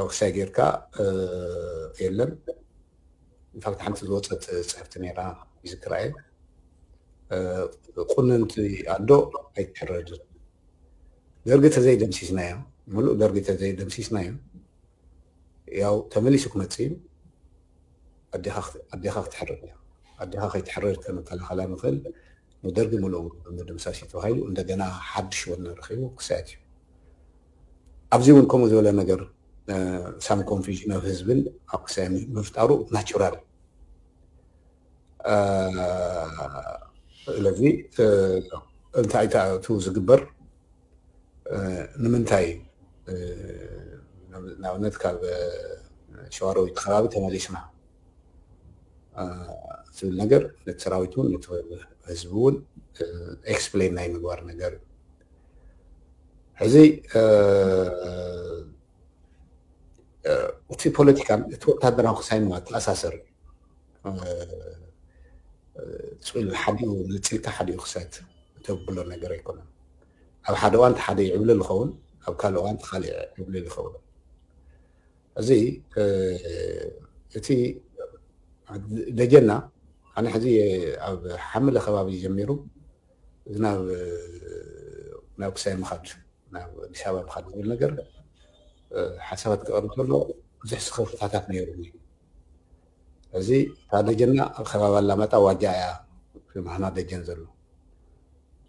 ክሳይ ጌርካ የለን። ኢንፋክት ሓንቲ ዝወፀት ፅሕፍቲ ነይራ ይዝክራ እየ። ቁንንቲ ኣዶ ኣይትሕረድን። ደርጊ ተዘይደምሲስናዮ፣ ሙሉእ ደርጊ ተዘይደምሲስናዮ ያው ተመሊሱ ክመፅእ እዩ። ኣዴኻ ክትሕረድ እያ። ኣዴኻ ከይትሕረድ ከመከላኸላ ንኽእል ንደርጊ ሙሉእ ምድምሳስ እዩ ተባሂሉ እንደገና ሓድሽ ወነ ረኺቡ ክሳየት እዩ። ኣብዚ እውን ከምኡ ዝበለ ነገር ሳም ኮንፊዥን ኣብ ህዝብን ኣብ ክሳይ ምፍጣሩ ናቹራል። ስለዚ እንታይ እቱ ዝግበር ንምንታይ ንኣብነት ካብ ሸዋሮቢት ከባቢ ተመሊስና ዝብል ነገር ነቲ ሰራዊት እውን ነቲ ህዝቢ እውን ኤክስፕሌን ናይ ምግባር ነገር እዩ። ሕዚ እቲ ፖለቲካን እቲ ወታደራዊ ክሳይ ንዋ ተኣሳሰር እዩ። ስኢሉ ሓዲኡ ነፂልካ ሓዲኡ ክሳት ተብሎ ነገር ኣይኮነን። ኣብ ሓደ እዋን ሓደ ይዕብልል ይኸውን፣ ኣብ ካልእ እዋን ካልእ ይዕብልል ይኸውን። እዚ እቲ ደጀና ኣነ ሕዚ ኣብ ሓምለ ከባቢ ጀሚሩ ናብ ናብ ክሳይ ምኻድ ናብ ኣዲስ ኣበባ ምኻድ ዝብል ነገር ሓሳባት ክቐርብ ከሎ ብዙሕ ስኽፍታታት ነይሩ። እዚ እታ ደጀና ኣብ ከባቢ ኣላማጣ ዋጃ እያ ማህና ደጀን ዘሎ።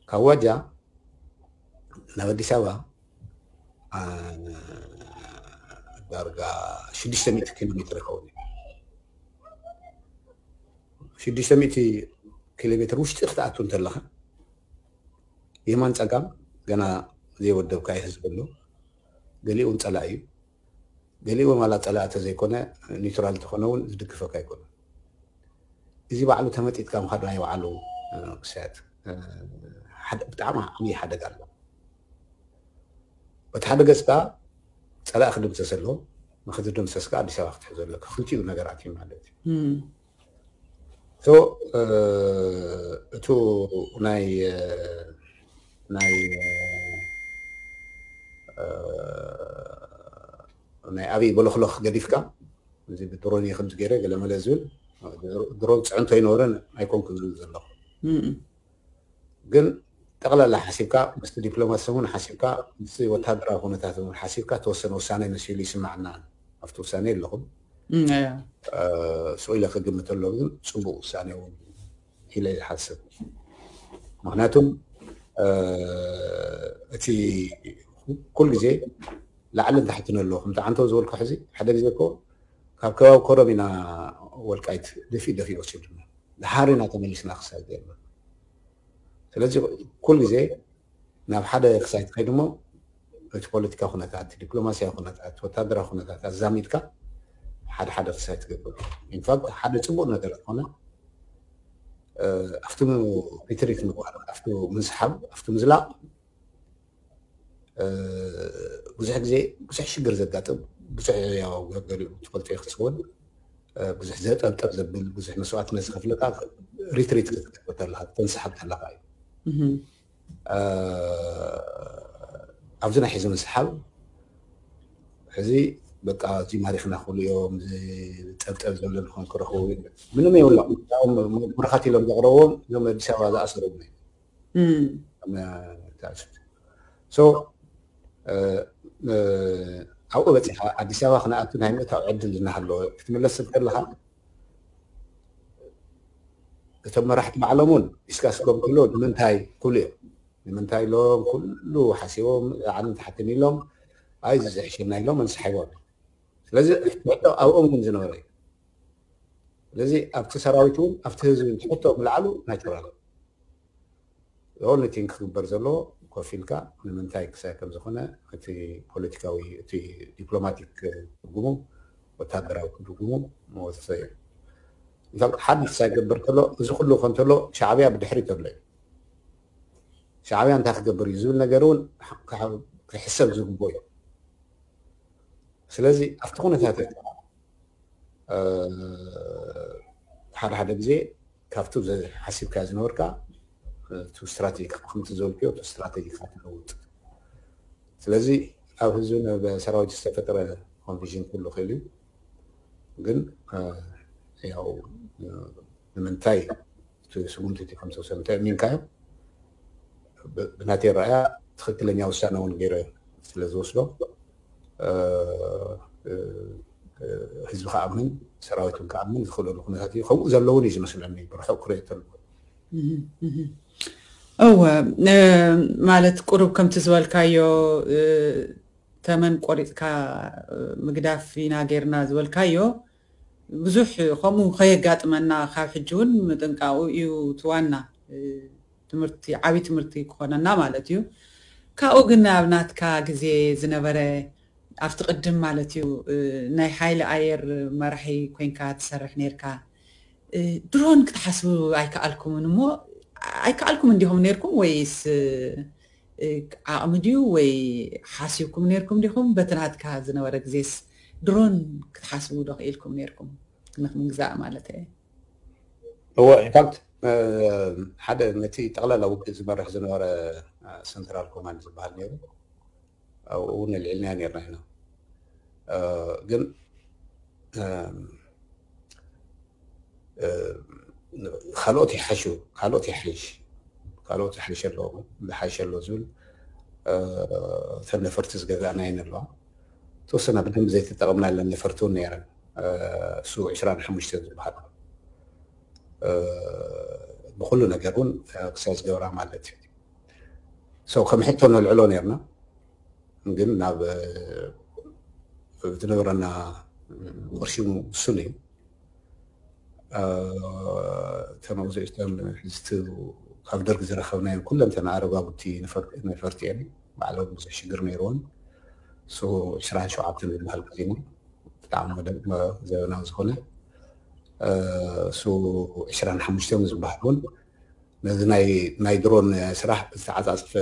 ካብ ዋጃ ናብ ኣዲስ ኣበባ ዳርጋ ሽዱሽተ ሚእቲ ኪሎ ሜትር ይኸውን። ሽዱሽተ ሚእቲ ኪሎ ሜትር ውሽጢ ክትኣቱ እንተለኻ የማን ፀጋም ገና ዘይወደብካዮ ህዝቢ ኣሎ። ገሊኡ እውን ፀላኢ እዩ። ገሊኡ ማላ ፀላኢ ተዘይኮነ ኒውትራል ተኾነ እውን ዝድግፈካ ኣይኮነን። እዚ ባዕሉ ተመጢጥካ ምኻድ ናይ ባዕሉ ክሳያት ብጣዕሚ ዓብዪ ሓደጋ ኣሎ። በቲ ሓደ ገፅ ከዓ ፀላኢ ክድምሰስ ኣለዎ። ንክትድምሰስ ከዓ ኣዲስ ኣበባ ክትሕዞ ኣለካ። ክልቲኡ ነገራት እዩ ማለት እዩ። ሶ እቱ ናይ ናይ ናይ ኣብይ በለኽለኽ ገዲፍካ፣ እዚ ብድሮን ከምዚ ገይረ ገለመለ ዝብል፣ ድሮን ፅዕንቶ ኣይነበረን ኣይኮንኩን ዝብል ዘለኹ። ግን ጠቕላላ ሓሲብካ፣ ምስቲ ዲፕሎማሲ እውን ሓሲብካ፣ ምስቲ ወታደራዊ ኩነታት እውን ሓሲብካ ተወሰነ ውሳኔ መሲሉ ይስማዕና። ኣብቲ ውሳኔ ኣለኹም። ስቕ ኢለ ክግምት ኣለኹ፣ ግን ፅቡቅ ውሳኔ እውን ኢለ ይሓስብ። ምክንያቱም እቲ ኩሉ ግዜ ላዕልን ታሕትን ኣለዎ። ከምቲ ዓንተው ዝበልኩ ሕዚ ሓደ ግዜ እኮ ካብ ከባቢ ኮረም ኢና ወልቃይት ደፊእ ደፊእ ወሲዱና፣ ድሓር ኢና ተመሊስና ክሳብ ዘለና። ስለዚ ኩሉ ግዜ ናብ ሓደ ክሳይ ትኸይድ እሞ እቲ ፖለቲካ ኩነታት፣ ዲፕሎማሲያዊ ኩነታት፣ ወታደራዊ ኩነታት ኣዛሚድካ ሓደ ሓደ ክሳይ ትገብር። ኢንፋክት ሓደ ፅቡቅ ነገር ዝኾነ ኣብቲ ሪትሪት ምግባር፣ ኣብቲ ምንስሓብ፣ ኣብቲ ምዝላቕ ብዙሕ ግዜ ብዙሕ ሽግር ዘጋጥም፣ ብዙሕ ያው ገሊኡ ትፈልጦ ክትኸውን ብዙሕ ዘጠብጠብ ዘብል ብዙሕ መስዋዕትነት ዝኸፍለካ ሪትሪት ክትገብር ተለካ ተንስሓብ ተለካ እዩ። ኣብዚ ናይ ሕዚ ምስሓብ ሕዚ በቃ እዚ ማሪኽና ክብሉ እዮም፣ ጠብጠብ ዘብለ ንኾን ክረኽቡ ምንም የብሎም። ብርኻት ኢሎም ዘቕረብዎም እዞም ኣዲስ ኣበባ ዝኣሰሩ ሶ ኣብኡ በፂኻ ኣዲስ ኣበባ ክነኣቱ ናይ ምእታው ዕድል እናሃለወ ክትምለስ ከለካ እቶም መራሕቲ ባዕሎም እውን ዲስካስ ክገብሩ ከለዉ ንምንታይ ክብሉ እዮም። ንምንታይ ኢሎም ኩሉ ሓሲቦም ላዕልን ታሕትን ኢሎም ኣይ እዚ ዝሕሸና ኢሎም ኣንስሓይቦም። ስለዚ ሕቶ ኣብኦም እውን ዝነበረ እዩ። ስለዚ ኣብቲ ሰራዊት እውን ኣብቲ ህዝቢ ሕቶ ምልዓሉ ናይ ተራሉ ኦንሊ ቲንግ ክግበር ዘለዎ ኮፍ ኢልካ ንምንታይ ክሳይ ከም ዝኾነ እቲ ፖለቲካዊ እቲ ዲፕሎማቲክ ትርጉሙ ወታደራዊ ትርጉሙ መወሰ እዩ። ኢንፋክት ሓድሽ ሳይገበር ከሎ እዚ ኩሉ ከንተሎ ሻዕብያ ብድሕሪት ኣሎ እዩ። ሻዕብያ እንታይ ክገብር እዩ ዝብል ነገር እውን ክሕሰብ ዝግቦ እዩ። ስለዚ ኣብቲ ኩነታት ሓደ ሓደ ግዜ ካብቲ ሓሲብካ ዝነበርካ ስትራቴጂ ከምቲ ዝበልክዮ ስትራቴጂ ትለውጥ። ስለዚ ኣብ ህዝብን ሰራዊት ዝተፈጠረ ኮንፊዥን ክህሉ ክእል እዩ። ግን ያው ንምንታይ እቲ ስጉምቲ እቲ ከምተወሰደ እንታይ ኣሚንካዮ ብናተይ ረኣያ ትኽክለኛ ውሳነ እውን ገይረ ስለ ዝወስዶ ህዝቢ ክኣምን ሰራዊት እውን ክኣምን ዝኽእለሉ ኩነታት እዩ። ከምኡ ዘለውን እዩ ዝመስለኒ ብርሑቕ ክሪኦ ተለኩ። እወ ማለት ቁሩብ ከምቲ ዝበልካዮ ተመን ቆሪፅካ ምግዳፍ ኢና ገይርና ዝበልካዮ ብዙሕ ከምኡ ከየጋጥመና ካብ ሕጂ እውን ምጥንቃቑ እዩ እቲ ዋና ትምህርቲ ዓብዪ ትምህርቲ ክኾነና ማለት እዩ። ካብኡ ግን ኣብ ናትካ ግዜ ዝነበረ ኣብቲ ቅድም ማለት እዩ ናይ ሓይሊ ኣየር መራሒ ኮይንካ ትሰርሕ ነርካ። ድሮን ክትሓስቡ ኣይከኣልኩምን እሞ ኣይከኣልኩም እንዲኹም ነርኩም ወይስ ዓቕሚ ድዩ ወይ ሓሲብኩም ነርኩም ዲኹም? በቲ ናትካ ዝነበረ ግዜስ ድሮን ክትሓስቡ ዶ ክኢልኩም ነርኩም? ክንኽምግዛእ ማለት እየ። እወ ኢንፋክት ሓደ ነቲ ጠቕላላ ውግእ ዝመርሕ ዝነበረ ሰንትራል ኮማንድ ዝበሃል ነይሩ። ኣብኡ እውን ኣልዒልናዮ ነርና ኢና። ግን ካልኦት ይሓሹ፣ ካልኦት ይሓይሽ፣ ካልኦት ይሓይሽ ኣለዎ፣ ዝሓይሽ ኣሎ ዝብል እተን ነፈርቲ ዝገዛእናየን ኣለዋ። ተወሰና ብደንብ ዘይተጠቐምናለን ነፈርቲ እውን ነይረን። ሱ ዕስራን ሓሙሽተን ዝበሃል ብኩሉ ነገር እውን ክሳይ ዝገብራ ማለት እዩ። ከም ሕቶ ነልዕሎ ነርና ግን ናብ ዝነበረና ቅርሺ ውሱን እዩ። እተን ኣብዚኦም ሕዝቲ ካብ ደርግ ዝረኸብናየን ኩለን እተን ኣረጋጉቲ ነፈርቲ እየን። ባዕሎም ብዙሕ ሽግር ነይርዎን። ዕስራን ሸውዓተን ዝበሃል ግዜና ብጣዕሚ ዘበናዊ ዝኾነ ዕስራን ሓሙሽተን ዝበሃል እውን ነዚ ናይ ድሮን ስራሕ ብዝተዓፃፀፈ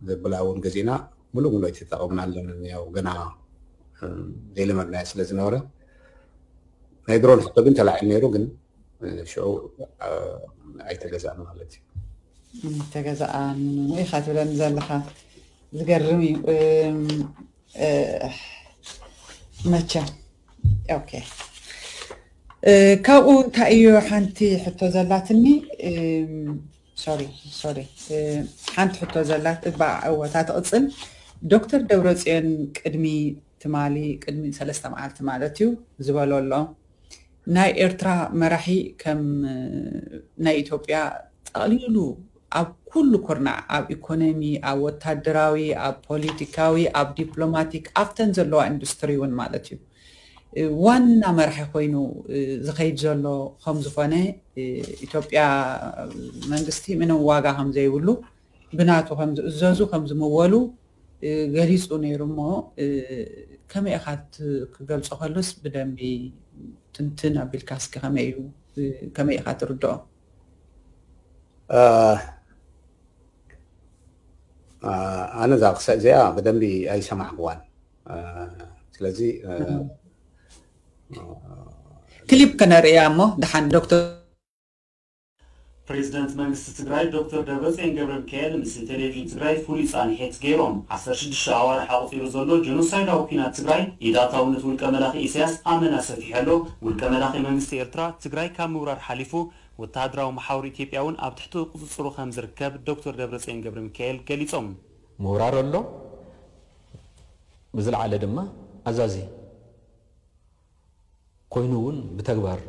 ዘብላ እውን ገዚእና ሙሉእ ሙሉእ ኣይተጠቐምናለን። ያው ገና ዘይለመድናዮ ስለ ዝነበረ ናይ ድሮን ሕቶ ግን ተላዒሉ ነይሩ። ግን ሽዑ ኣይተገዛእን ማለት እዩ። ተገዛእን ኢኻ ትብለኒ ዘለኻ ዝገርም እዩ። መቸም ኦኬ፣ ካብኡ እንታይ እዩ ሓንቲ ሕቶ ዘላትኒ። ሶሪ ሶሪ፣ ሓንቲ ሕቶ ዘላት እባ እወታ ትቕፅል። ዶክተር ደብረፅዮን ቅድሚ ትማሊ ቅድሚ ሰለስተ መዓልቲ ማለት እዩ ዝበሎ ኣሎ፣ ናይ ኤርትራ መራሒ ከም ናይ ኢትዮጵያ ጠቕሊሉ ኣብ ኩሉ ኩርናዕ፣ ኣብ ኢኮኖሚ፣ ኣብ ወታደራዊ፣ ኣብ ፖለቲካዊ፣ ኣብ ዲፕሎማቲክ፣ ኣብተን ዘለዋ ኢንዱስትሪ እውን ማለት እዩ ዋና መራሒ ኮይኑ ዝኸይድ ዘሎ ከም ዝኾነ፣ ኢትዮጵያ መንግስቲ ምንም ዋጋ ከም ዘይብሉ ብናቱ ከም ዝእዘዙ ከም ዝምወሉ ገሊፁ ነይሩ። እሞ ከመይ ኢኻ ክገልፆ ከሎስ ብደንቢ ትንትን ኣቢልካ እስኪ ከመይ እዩ ከመይ ኢኻ ትርድኦ? ኣነ እዛ ክሰእ እዚኣ ብደንቢ ኣይሰማዕክዋን። ስለዚ ክሊፕ ከነርእያ እሞ ደሓን ዶክተር ፕሬዚደንት መንግስቲ ትግራይ ዶክተር ደብረፅዮን ገብረ ሚካኤል ምስ ቴሌቪዥን ትግራይ ፍሉይ ፃንሒት ገይሮም። ዓሰርተ ሽዱሽተ ኣዋርሕ ኣቑፂሩ ዘሎ ጀኖሳይዳዊ ኲናት ትግራይ ኢድ ኣእታውነት ውልቀ መላኺ ኢሳያስ ኣመና ሰፊሑ ኣሎ። ውልቀ መላኺ መንግስቲ ኤርትራ ትግራይ ካብ ምውራር ሓሊፉ ወተሃደራዊ መሓውር ኢትዮጵያ እውን ኣብ ትሕቲ ቁፅፅሩ ከም ዝርከብ ዶክተር ደብረፅዮን ገብረ ሚካኤል ገሊፆም። ምውራር ኣሎ፣ ብዝለዓለ ድማ ኣዛዚ ኮይኑ እውን ብተግባር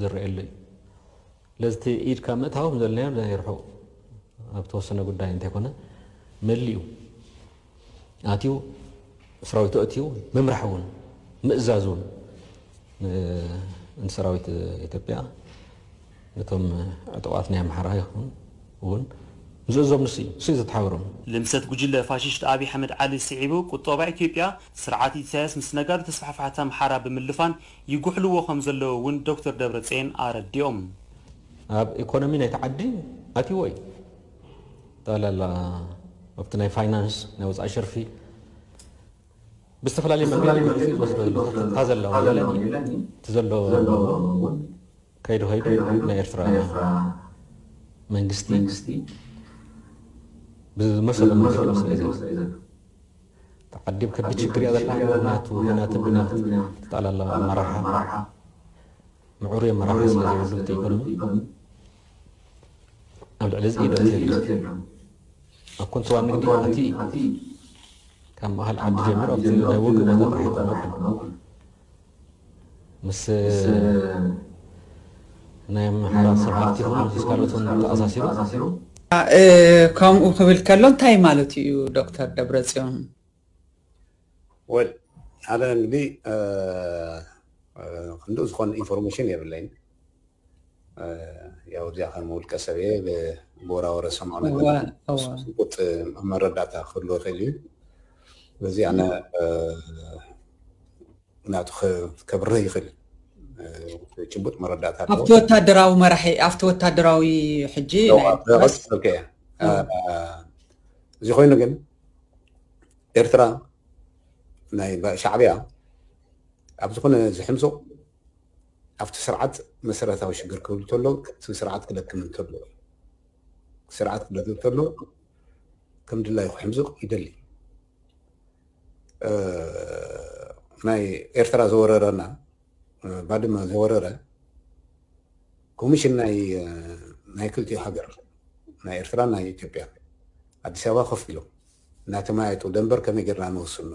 ዝረኣየሉ እዩ። ስለዚ እቲ ኢድካ ምእታው ከም ዘለናዮ ናይ ርሑቕ ኣብ ተወሰነ ጉዳይ እንተይኮነ መሊኡ ኣትዩ ሰራዊቱ ኣእትዩ ምምራሕ እውን ምእዛዝ እውን ንሰራዊት ኢትዮጵያ ነቶም ዕጡቓት ናይ ኣምሓራ ይኹን እውን ዝእዞም ንሱ እዩ፣ ንሱ እዩ ዘተሓብሮም። ልምሰት ጉጅለ ፋሽስት ኣብይ ኣሕመድ ዓሊ ስዒቡ ቁጠባ ኢትዮጵያ ስርዓት ኢሳያስ ምስ ነጋዶ ተስፋሕፋሕቲ ኣምሓራ ብምልፋን ይጉሕልዎ ከም ዘለዉ እውን ዶክተር ደብረፅዮን ኣረዲኦም። ኣብ ኢኮኖሚ ናይቲ ዓዲ ኣትይዎ እዩ። ጠቕላላ ኣብቲ ናይ ፋይናንስ ናይ ወፃኢ ሸርፊ ብዝተፈላለየ መንገዲ ተወስዶ እታ ዘለዋ የለን እቲ ዘሎ ከይዱ ከይዱ ናይ ኤርትራ መንግስቲ ብዝመሰሎ መንገዲ ወስዶ እዩ ዘሎ። ተዓዲብ ከቢድ ችግር እያ ዘላ። ናቱ ናትን ብናት ተጣላላ ኣመራርሓ ምዕሩይ ኣመራርሓ ስለ ዘይብሉ እቲ ኢኮኖሚ ኣብ ልዕሊ እዚ ኢደት የለን። ኣብ ኮንትሮባንድ ንግዲ ኣቲ ካብ ማእኸል ዓዲ ጀሚሩ ኣብቲ ናይ ውግእ ቦታ ጥራሕ ይኮነ ምስ ናይ ኣምሓራ ሰብ ሃብቲ ይኹን ምስ ካልኦት እውን ተኣሳሲሩ ከምኡ ክብል ከሎ እንታይ ማለት እዩ ዶክተር ደብረፅዮን? ወል ኣነ እንግዲህ ክንድኡ ዝኾነ ኢንፎርሜሽን የብለይን። ያው እዚኣ ከም ውልቀ ሰብ እየ ብወራወረ ሰምዖ ነገር ጭቡጥ መረዳእታ ክህልዎ ይኽእል እዩ። ስለዚ ኣነ ናቱ ከብርህ ይኽእል ጭቡጥ መረዳእታ ኣለዎ። ኣብቲ ወታደራዊ መራሒ ኣብቲ ወታደራዊ ሕጂ እዚ ኮይኑ ግን ኤርትራ ናይ ሻዕብያ ኣብ ዝኾነ ዝሕምሶ ኣብቲ ስርዓት መሰረታዊ ሽግር ክህሉ ተሎ እቲ ስርዓት ክደክም እንተሎ ስርዓት ክደክም ተሎ ከም ድላዩ ክሕምዝቕ ይደሊ። ናይ ኤርትራ ዘወረረና ባድመ ዘወረረ ኮሚሽን ናይ ናይ ክልቲኡ ሃገር ናይ ኤርትራ ናይ ኢትዮጵያ ኣዲስ ኣበባ ኮፍ ኢሎም እናተመያየጡ ደንበር ከመይ ጌርና ንወስኖ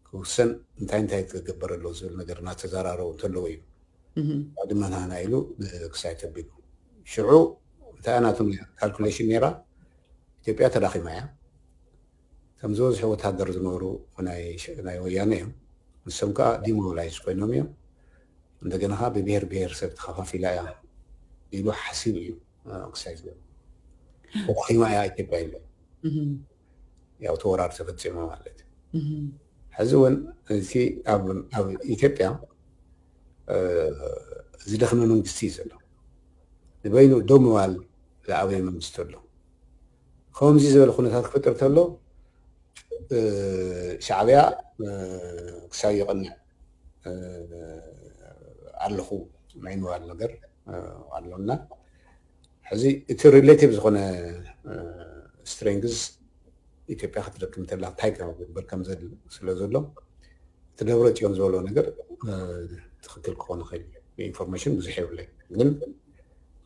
ክውሰን እንታይ እንታይ ክግበር ኣለዎ ዝብል ነገር እናተዘራረቡ እንተለዉ እዩ ባድመ ናህና ኢሉ ክሳይ ተቢሉ ሽዑ እንታይ ናቶም ካልኩሌሽን ነይራ ኢትዮጵያ ተዳኺማ እያ ከም ዝበዝሑ ወታደር ዝነበሩ ናይ ወያነ እዮም ንሶም ከዓ ዲሞቢላይዝ ኮይኖም እዮም እንደገና ከዓ ብብሄር ብሄር ሰብ ተኸፋፊላ እያ ኢሉ ሓሲቡ እዩ ክሳይ ዝገ ተዳኺማ እያ ኢትዮጵያ ኢለ ያው ተወራር ተፈፂሙ ማለት እዩ ሕዚ እውን እቲ ኣብ ኢትዮጵያ ዝደኽመ መንግስቲ እዩ ዘሎ ንበይኑ ደው ምባል ዝኣበየ መንግስቲ ኣሎ ከምዚ ዝበለ ኩነታት ክፈጥር ተሎ ሻዕብያ ክሳብ ይቐንዕ ኣለኹ ናይ ምባል ነገር ኣሎና። ሕዚ እቲ ሪሌቲቭ ዝኾነ ስትሬንግዝ ኢትዮጵያ ክትደክም እንተላ እንታይ ክግበር ከም ስለ ዘሎ እቲ ደብረ ፅዮን ዝበሎ ነገር ትክክል ክኾን ይኽእል። ኢንፎርሜሽን ብዙሕ የብለይ፣ ግን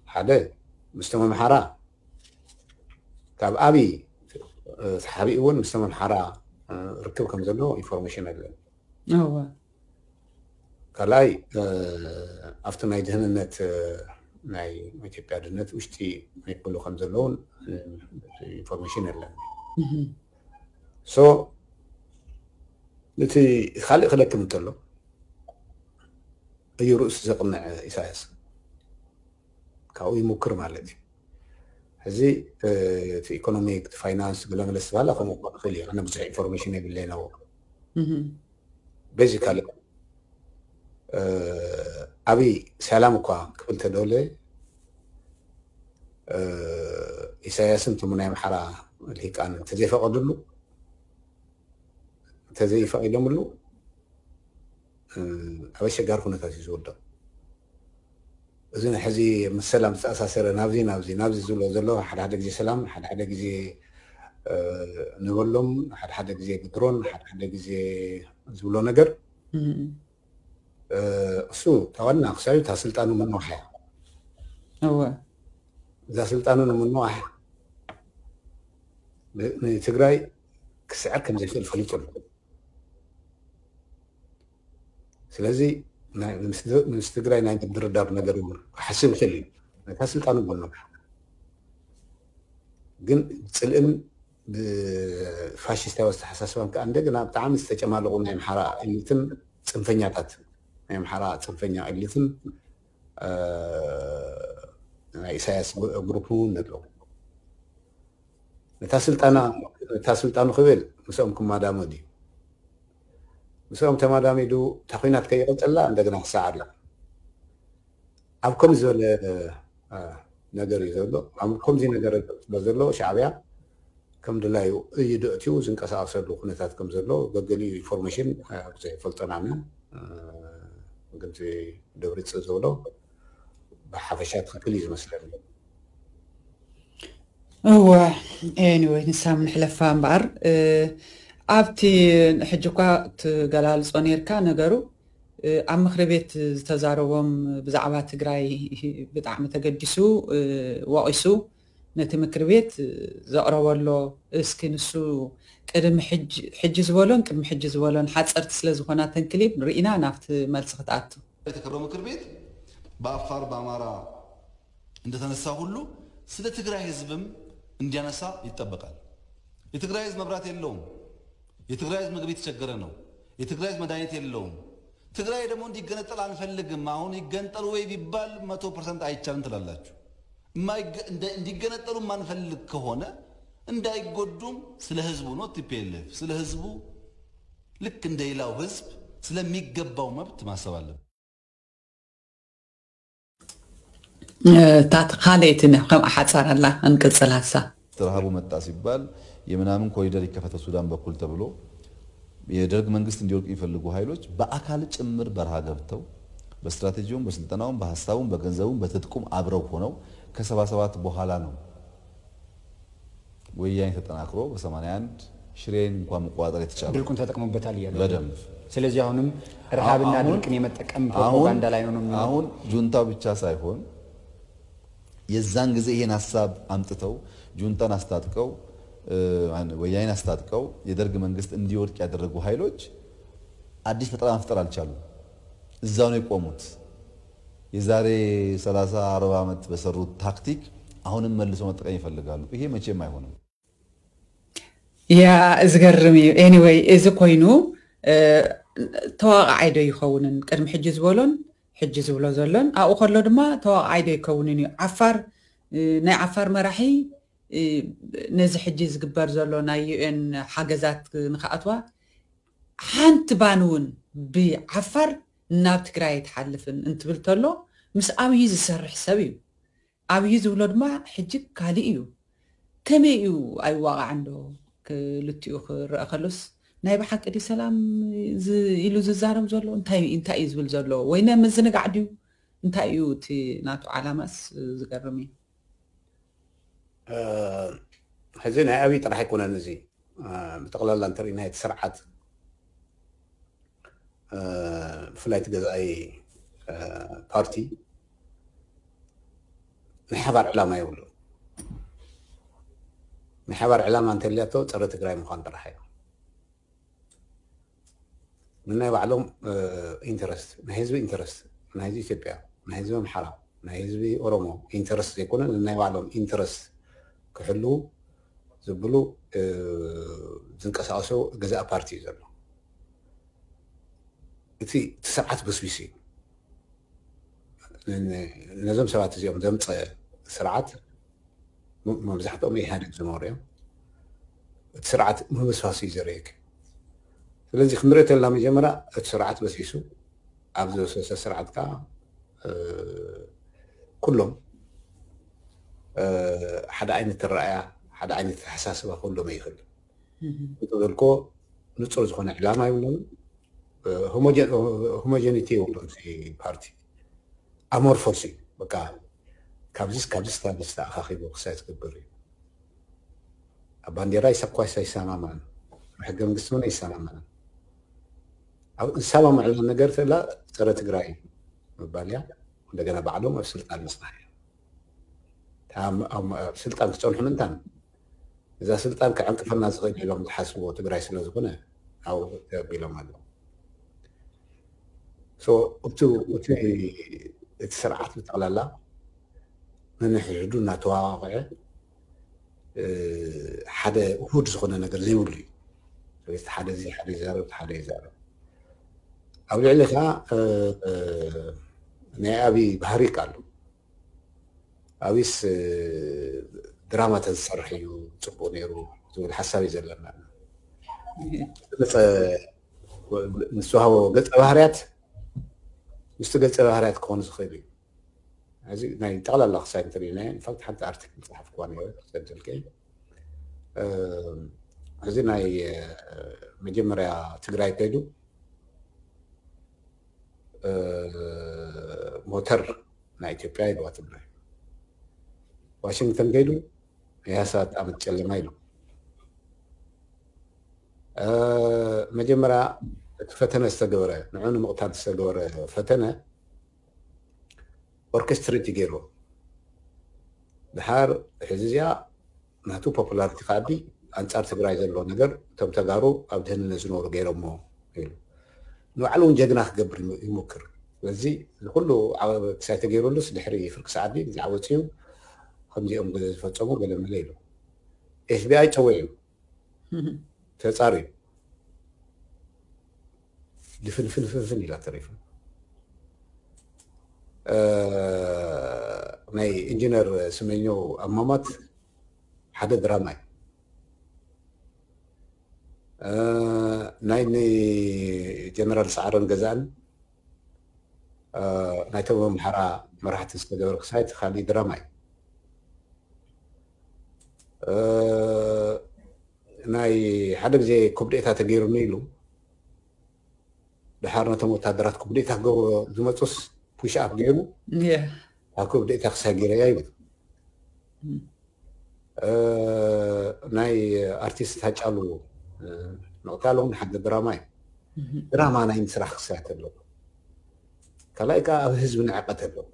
ሓደ ምስቶም ኣምሓራ ካብ ኣብይ ተሓቢኡ እውን ምስቶም ኣምሓራ ርክብ ከም ዘሎ ኢንፎርሜሽን ኣለኒ። ካልኣይ ኣብቲ ናይ ድህንነት ናይ ኢትዮጵያ ድህነት ውሽጢ ይክሉ ከም ዘለውን ኢንፎርሜሽን የለን። ሶ እቲ ካልእ ክለክም እንተሎ እዩ ርእሱ ዘቕንዕ ኢሳያስ ካብኡ ይሙክር ማለት እዩ። ሕዚ እቲ ኢኮኖሚ እቲ ፋይናንስ ገለመለ ዝተባሃለ ከምኡ ክኽእል እዩ። ኣነ ብዙሕ ኢንፎርሜሽን የብለይ ነው። ቤዚካሊ ኣብይ ሰላም እኳ ክብል ተደለ ኢሳያስን እቶም ናይ ኣምሓራ ልሂቃን እንተዘይፈቐድሉ እንተዘይፈቒዶምሉ ኣብ ኣሸጋሪ ኩነታት እዩ ዝወደቕ። እዚ ሕዚ ምስ ሰላም ዝተኣሳሰረ ናብዚ ናብዚ ናብዚ ዝብሎ ዘሎ ሓደ ሓደ ግዜ ሰላም ሓደ ሓደ ግዜ ንበሎም ሓደ ሓደ ግዜ ብድሮን ሓደ ሓደ ግዜ ዝብሎ ነገር እሱ ተዋና ክሳዩ እታ ስልጣኑ ምንዋሕ እያ። እዛ ስልጣኑ ንምንዋሕ ንትግራይ ክስዕር ከም ዘይክእል ፈሊጡ ኣሎ። ስለዚ ምስ ትግራይ ናይ ምድርዳር ነገር እውን ክሓስብ ይኽእል እዩ። ነታ ስልጣኑ ምንዋሕ ግን ፅልእን ብፋሽስታዊ ኣስተሓሳስባን ከዓ እንደገና ብጣዕሚ ዝተጨማለቑ ናይ ኣምሓራ ኤሊትን ፅንፈኛታት ናይ ኣምሓራ ፅንፈኛ ኤሊትን ናይ ኢሳያስ ግሩፕ እውን ኣለዉ። ነታ ስልጣና ነታ ስልጣኑ ክብል ምስኦም ክማዳመድ እዩ። ምስኦም ተማዳሚዱ እታ ኩናት ከይቐፀላ እንደገና ክሰዓር እዩ። ኣብ ከምዚ ዝበለ ነገር እዩ ዘሎ። ኣብ ከምዚ ነገር ዘሎ ሻዕብያ ከም ድላዩ እዩ ደእትዩ ዝንቀሳቀሰሉ ኩነታት ከም ዘሎ ገገሊኡ ኢንፎርሜሽን ብዙሕ ይፈልጦን ኣነ ግን ደብሪፅ ዝበሎ ብሓፈሻ ትክክል እዩ ዝመስለኒ። እወ anyway ንሳ ምንሕለፋ እምበኣር ኣብቲ ሕጂ እኳ ትገላልፆ ነርካ ነገሩ ኣብ ምክሪ ቤት ዝተዛረቦም ብዛዕባ ትግራይ ብጣዕሚ ተገዲሱ ወቒሱ ነቲ ምክሪ ቤት ዘቕረበሎ እስኪ ንሱ ቅድሚ ሕጂ ዝበሎን ቅድሚ ሕጂ ዝበሎን ሓፀርቲ ስለ ዝኾና ተንክሊብ ርኢና ናብቲ መልሲ ክትኣቱ የተከበረው ምክር ቤት በአፋር በአማራ እንደተነሳ ሁሉ ስለ ትግራይ ህዝብም እንዲያነሳ ይጠበቃል። የትግራይ ህዝብ መብራት የለውም። የትግራይ ህዝብ ምግብ የተቸገረ ነው። የትግራይ ህዝብ መድኃኒት የለውም። ትግራይ ደግሞ እንዲገነጠል አንፈልግም። አሁን ይገንጠሉ ወይ ቢባል መቶ ፐርሰንት አይቻልም ትላላችሁ። እንዲገነጠሉ የማንፈልግ ከሆነ እንዳይጎዱም ስለ ህዝቡ ነው። ቲፒኤልኤፍ ስለ ህዝቡ ልክ እንደሌላው ህዝብ ስለሚገባው መብት ማሰብ አለብን። እታ ካልኣይቲ ከም ሓፃር ኣላ እንቅፅል ሃሳ ረሃቡ መጣ ሲባል የምናምን ኮሪደር ይከፈት በሱዳን በኩል ተብሎ የደርግ መንግስት እንዲወድቅ የሚፈልጉ ኃይሎች በአካል ጭምር በረሃ ገብተው በስትራቴጂውም በስልጠናውም በሀሳቡም በገንዘቡም በትጥቁም አብረው ሆነው ከሰባ ሰባት በኋላ ነው ወያኔ ተጠናክሮ በሰማንያ አንድ ሽሬን እንኳን መቆጣጠር የተቻለ ድርቁን ተጠቅሞበታል እያሉ በደንብ። ስለዚህ አሁንም ረሃብና አሁን- ድርቅን የመጠቀም አሁን- ፕሮፓጋንዳ ላይ ነው ነው የሚለው። አሁን ጁንታው ብቻ ሳይሆን የዛን ጊዜ ይሄን ሀሳብ አምጥተው ጁንታን አስታጥቀው እ፣ ወያኔን አስታጥቀው የደርግ መንግስት እንዲወድቅ ያደረጉ ኃይሎች አዲስ ፈጠራ መፍጠር አልቻሉም። እዛው ነው የቆሙት። የዛሬ ሠላሳ አርባ ዓመት በሰሩት ታክቲክ አሁንም መልሰው መጠቀም ይፈልጋሉ። ይሄ መቼም አይሆንም። ያ ዝገርም እዩ። Anyway እዚ ኮይኑ ተዋቃዓይ ዶ ይኸውንን ቅድሚ ሕጂ ዝበሎን ሕጂ ዝብሎ ዘሎን ኣብኡ ከሎ ድማ ተዋቃዓይ ዶ ይከውንን እዩ። ዓፋር ናይ ዓፋር መራሒ ነዚ ሕጂ ዝግበር ዘሎ ናይ UN ሓገዛት ንክኣትዋ ሓንቲ ባን እውን ብዓፋር ናብ ትግራይ ኣይትሓልፍን እንትብል ተሎ ምስ ኣብይ ዝሰርሕ ሰብ እዩ። ኣብይ ዝብሎ ድማ ሕጂ ካሊእ እዩ። ከመይ እዩ ኣይዋቃዕን ዶ ክልቲኡ ክረአ ከሎስ ናይ ብሓቂ ድዩ ሰላም ኢሉ ዝዛረብ ዘሎ እንታይ እንታይ እዩ ዝብል ዘሎ ወይ ናይ ምዝንጋዕ ድዩ እንታይ እዩ እቲ ናቱ ዓላማስ? ዝገርም እዩ። ሕዚ ናይ ኣብይ ጥራሕ ኣይኮነን እዚ። ብጠቕላላ እንተርኢና እቲ ስርዓት ብፍላይ እቲ ገዛኢ ፓርቲ ናይ ሓባር ዕላማ የብሉ። ናይ ሓባር ዕላማ እንተልያቶ ፀረ ትግራይ ምዃን ጥራሕ እዩ። ንናይ ባዕሎም ኢንተረስት፣ ናይ ህዝቢ ኢንተረስት፣ ናይ ህዝቢ ኢትዮጵያ፣ ናይ ህዝቢ ኣምሓራ፣ ናይ ህዝቢ ኦሮሞ ኢንተረስት ዘይኮነ ንናይ ባዕሎም ኢንተረስት ክሕልዉ ዝብሉ ዝንቀሳቀሱ ገዛኢ ፓርቲ እዩ ዘሎ። እቲ እቲ ስርዓት በስቢሱ እዩ። ነዞም ሰባት እዚኦም ዘምፀ ስርዓት መብዛሕትኦም ኢህኣዴግ ዝነበሩ እዮም። እቲ ስርዓት ምብስባስ እዩ ዘርእየክ። ስለዚ ክንሪኦ ተለና መጀመርያ እቲ ስርዓት በሲሱ ኣብ ዝበሰሰ ስርዓት ከዓ ኩሎም ሓደ ዓይነት ተረኣያ ሓደ ዓይነት ተሓሳስባ ኩሎም ይኽእል። ዝበልኮ ንፁር ዝኾነ ዕላማ ይብሎም። ሆሞጀኒቲ የብሎም ፓርቲ ኣሞርፎስ እዩ። በቃ ካብዚስ ካብዚስ ካብዚስ ተኣኻኺቡ ክሳይ ትገብር እዩ። ኣብ ባንዴራ ይሰኳስ ኣይሰማማዕን፣ ኣብ ሕገ መንግስቲ እውን ኣይሰማማዕን። ኣብ ዝሰማምዕሉ ነገር ተላ ፀረ ትግራይ ምባል እያ። እንደገና ባዕሎም ኣብ ስልጣን ምፅናሕ እያ። ኣብ ስልጣን ክፀንሑ ምንታን እዛ ስልጣን ክዕንቅፈና ዝኽእል ኢሎም ዝሓስብዎ ትግራይ ስለ ዝኾነ ኣብኡ ተቢሎም ኣለዉ። እቲ ስርዓት ብጠቕላላ ነንሕድሕዱ እናተዋቃቕዐ ሓደ ውሁድ ዝኾነ ነገር ዘይብሉ እዩ። ስለዚ ሓደ እዚ ሓደ ይዛረብ ሓደ ይዛረብ። ኣብ ልዕሊ ከዓ ናይ ኣብይ ባህሪ ኣሎ። ኣብይስ ድራማ ተዝሰርሕ እዩ ፅቡቅ ነይሩ ዝብል ሓሳብ እዩ ዘለና። ዝተዋሃቦ ገፀ ባህርያት ምስቲ ገፀ ባህርያት ክኾኑ ዝኽእል እዩ። እዚ ናይ ጠቕላላ ክሳይ እንተሪእናዮ ኢንፋክት ሓንቲ ኣርቲክል ፀሓፍኩዋ ነረ ክሰድልከ እዚ ናይ መጀመርያ ትግራይ ከይዱ ሞተር ናይ ኢትዮጵያ ኢልዋ ትግራይ። ዋሽንግተን ከይዱ ያሳት ዓመት ጨለማ ኢሉ። መጀመርያ እቲ ፈተነ ዝተገበረ ንዑ ንምቕታል ዝተገበረ ፈተነ ኦርኬስትሬት ይገይርዎ። ድሓር ሕዚ እዚኣ ናቱ ፖፑላሪቲ ክዓቢ ኣንጻር ትግራይ ዘሎ ነገር እቶም ተጋሩ ኣብ ድህንነት ዝነብሩ ገይሮሞ ኢሉ ንባዕሉ እውን ጀግና ክገብር ይሞክር። ስለዚ ዝኩሉ ክሳይ ተገይሩሉስ ድሕሪ ፍርቂ ሰዓት ብዛዕባ ወፅዩ ከምዚኦም ዝፈፀሙ ገለመለ ኢሉ ኤፍቢኣይ ፀዊዑ ተፃርዩ ድፍንፍንፍንፍን ኢላ ተሪፉ። ናይ ኢንጂነር ስመኘው ኣማማት ሓደ ድራማ እዩ። ናይ ጀነራል ሰዓረን ገዛእን ናይቶም ኣምሓራ መራሕቲ ዝተገበረ ክሳይ እቲ ካሊእ ድራማ እዩ። ናይ ሓደ ግዜ ኩብዴታ ተገይሩኒ ኢሉ ድሓር ነቶም ወታደራት ኩብዴታ ክገብሩ ዝመፁስ ፑሽ ኣፕ ገይሩ ካብ ኩብዴታ ክሳይ ገይረያ ይብል። ናይ ኣርቲስት ሃጫሉ ምቕታል እውን ሓደ ድራማ እዩ። ድራማ ናይ ምስራሕ ክሳያት ኣለዎ። ካልኣይ ከዓ ኣብ ህዝቢ ንዕቀት ኣለዎ።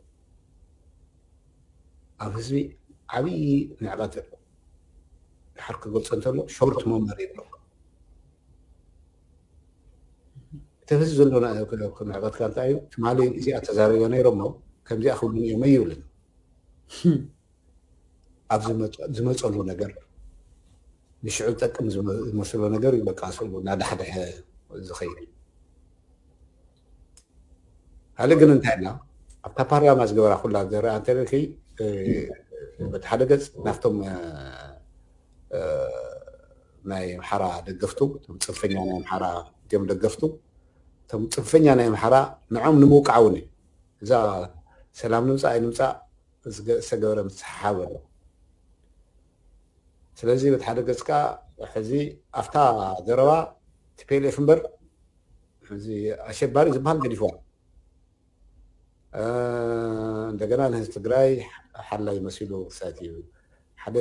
ኣብ ህዝቢ ዓብዪ ንዕቀት ኣለዎ። ድሓር ክገልፆ እንተሎ ሾርት መሞሪ ይብሎ። እቲ ህዝቢ ዘሎ ንዕቀትካ እንታይ እዩ? ትማሊ እዚኣ ተዛሪበ ነይሮሞ ከምዚኣ ክብሉኒ እዮም ኣይብልን። ኣብ ዝመፀሉ ነገር ንሽዑ ዝጠቅም ዝመስሎ ነገር እዩ በቃ ስሉ እናዳሕደሐ ዝኸይድ። ካልእ ግን እንታይ ኢልና ኣብታ ፓርላማ ዝገበራ ኩላ ዘረኣ እንተለኪ በቲ ሓደ ገፅ ናፍቶም ናይ ኣምሓራ ደገፍቱ እቶም ፅንፈኛ ናይ ኣምሓራ እቶም ደገፍቱ እቶም ፅንፈኛ ናይ ኣምሓራ ንዖም ንምውቃዕ እውን እዩ። እዛ ሰላም ንምፃእ ኣይንምፃእ ዝተገበረ ምስሓብ ኣሎ። ስለዚ በቲ ሓደ ገፅካ ሕዚ ኣብታ ዘረባ ቲፒኤልኤፍ እምበር ሕዚ ኣሸባሪ ዝበሃል ገዲፍዋ እንደገና ንህዝቢ ትግራይ ሓላይ መሲሉ ክሳት እዩ። ሓደ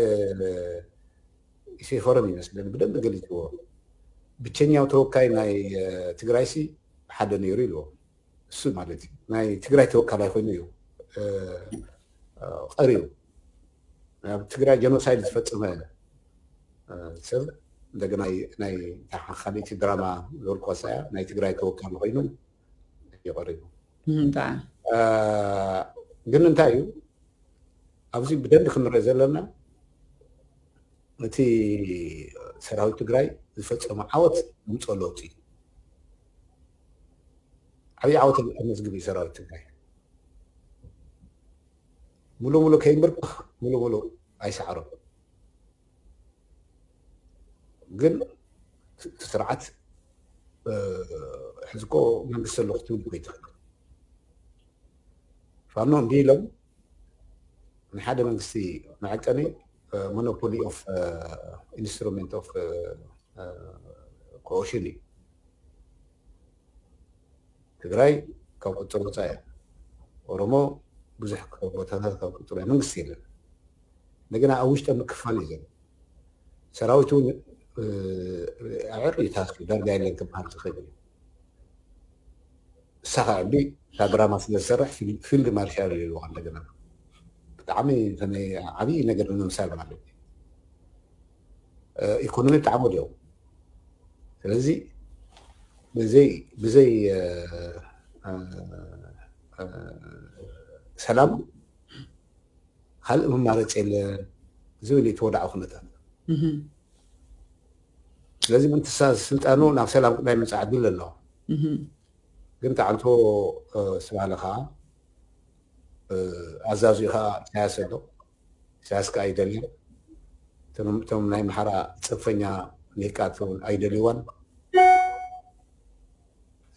ኢሴፎረም ይመስለኒ ብደንብ ገሊፅዎ። ብቸኛው ተወካይ ናይ ትግራይ ሲ ሓደ ነይሩ ኢልዎ። እሱ ማለት እዩ ናይ ትግራይ ተወካላይ ኮይኑ እዩ ቀሪቡ። ኣብ ትግራይ ጀኖሳይድ ዝፈፀመ ሰብ እንደገና ናይ ካልእቲ ድራማ ዘውርቆሳ እያ ናይ ትግራይ ተወካሊ ኮይኑ እዩ ቀሪቡ። ግን እንታይ እዩ ኣብዚ ብደንብ ክንርኢ ዘለና እቲ ሰራዊት ትግራይ ዝፈፀመ ዓወት ምፅኦ ለውጢ ዓብዪ ዓወት ኣመዝግብ እዩ ሰራዊት ትግራይ። ሙሉ ሙሉ ከይምብርክኽ ሙሉ ሙሉ ኣይሰዓሮም። ግን እቲ ስርዓት ሕዝቆ መንግስቲ ኣለኹ ትብል ኮይትኽእል ፋኖ እንዲ ኢሎም ንሓደ መንግስቲ መዐቀኒ ሞኖፖሊ ኦፍ ኢንስትሩመንት ኦፍ ኮኦሽን እዩ። ትግራይ ካብ ቁፅር ወፃ እያ። ኦሮሞ ብዙሕ ቦታታት ካብ ቁፅር መንግስቲ የለን። እንደገና ኣብ ውሽጠ ምክፋል እዩ ዘሎ። ሰራዊት እውን ኣዕር ይታስብ ዳርጋ የለን ክበሃል ዝኽእል እዩ። እሳኻ ዕቢ እታ ድራማ ስለ ዝሰርሕ ፊልድ ማርሻል ይልዋ እንደገና ብጣዕሚ ዓብዪ ነገር ንምምሳል ማለት እዩ። ኢኮኖሚ ብጣዕሚ ወዲኦም ስለዚ ብዘይ ብዘይ ሰላም ካልእ መማረፂ የለ ዝብል እዩ ተወዳዒ ኩነታት። ስለዚ ምንትሳ ስልጣኑ ናብ ሰላም ቅዳይ ምፃዕ ድል ኣለዋ። ግን ተዓንቶ ስባለ ከዓ ኣዛዙ ከዓ ኢሳያስ ኣሎ። ኢሳያስ ከዓ ኣይደልዮ። እቶም ናይ ምሓራ ፅንፈኛ ሊቃት እውን ኣይደልይዋን።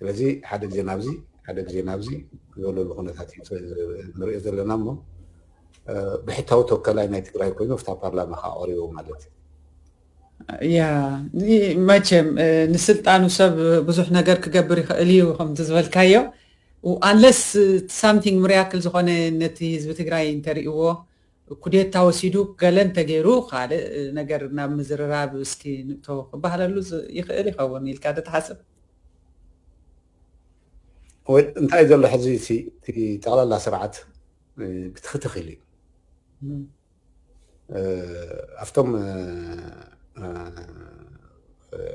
ስለዚ ሓደ ግዜ ናብዚ ሓደ ግዜ ናብዚ ዘለሉ ኩነታት ንሪኦ ዘለና እሞ ብሕታዊ ተወከላይ ናይ ትግራይ ኮይኑ ፍታ ፓርላማ ከዓ ቀሪቡ ማለት እዩ። ያ መቸም ንስልጣኑ ሰብ ብዙሕ ነገር ክገብር ይኽእል እዩ ከምቲ ዝበልካዮ። ኣንለስ ሳምቲንግ ምርያክል ዝኾነ ነቲ ህዝቢ ትግራይ እንተሪእዎ ኩዴታ ወሲዱ ገለ እንተገይሩ ካልእ ነገር ናብ ምዝርራብ እስኪ ንእቶ ክበሃለሉ ይኽእል ይኸውን ኢልካ ዶ ትሓስብ? እንታይ ዘሎ ሕዚ ጠቕላላ ስርዓት ክትኽትኽ ኢሉ እዩ። ኣብቶም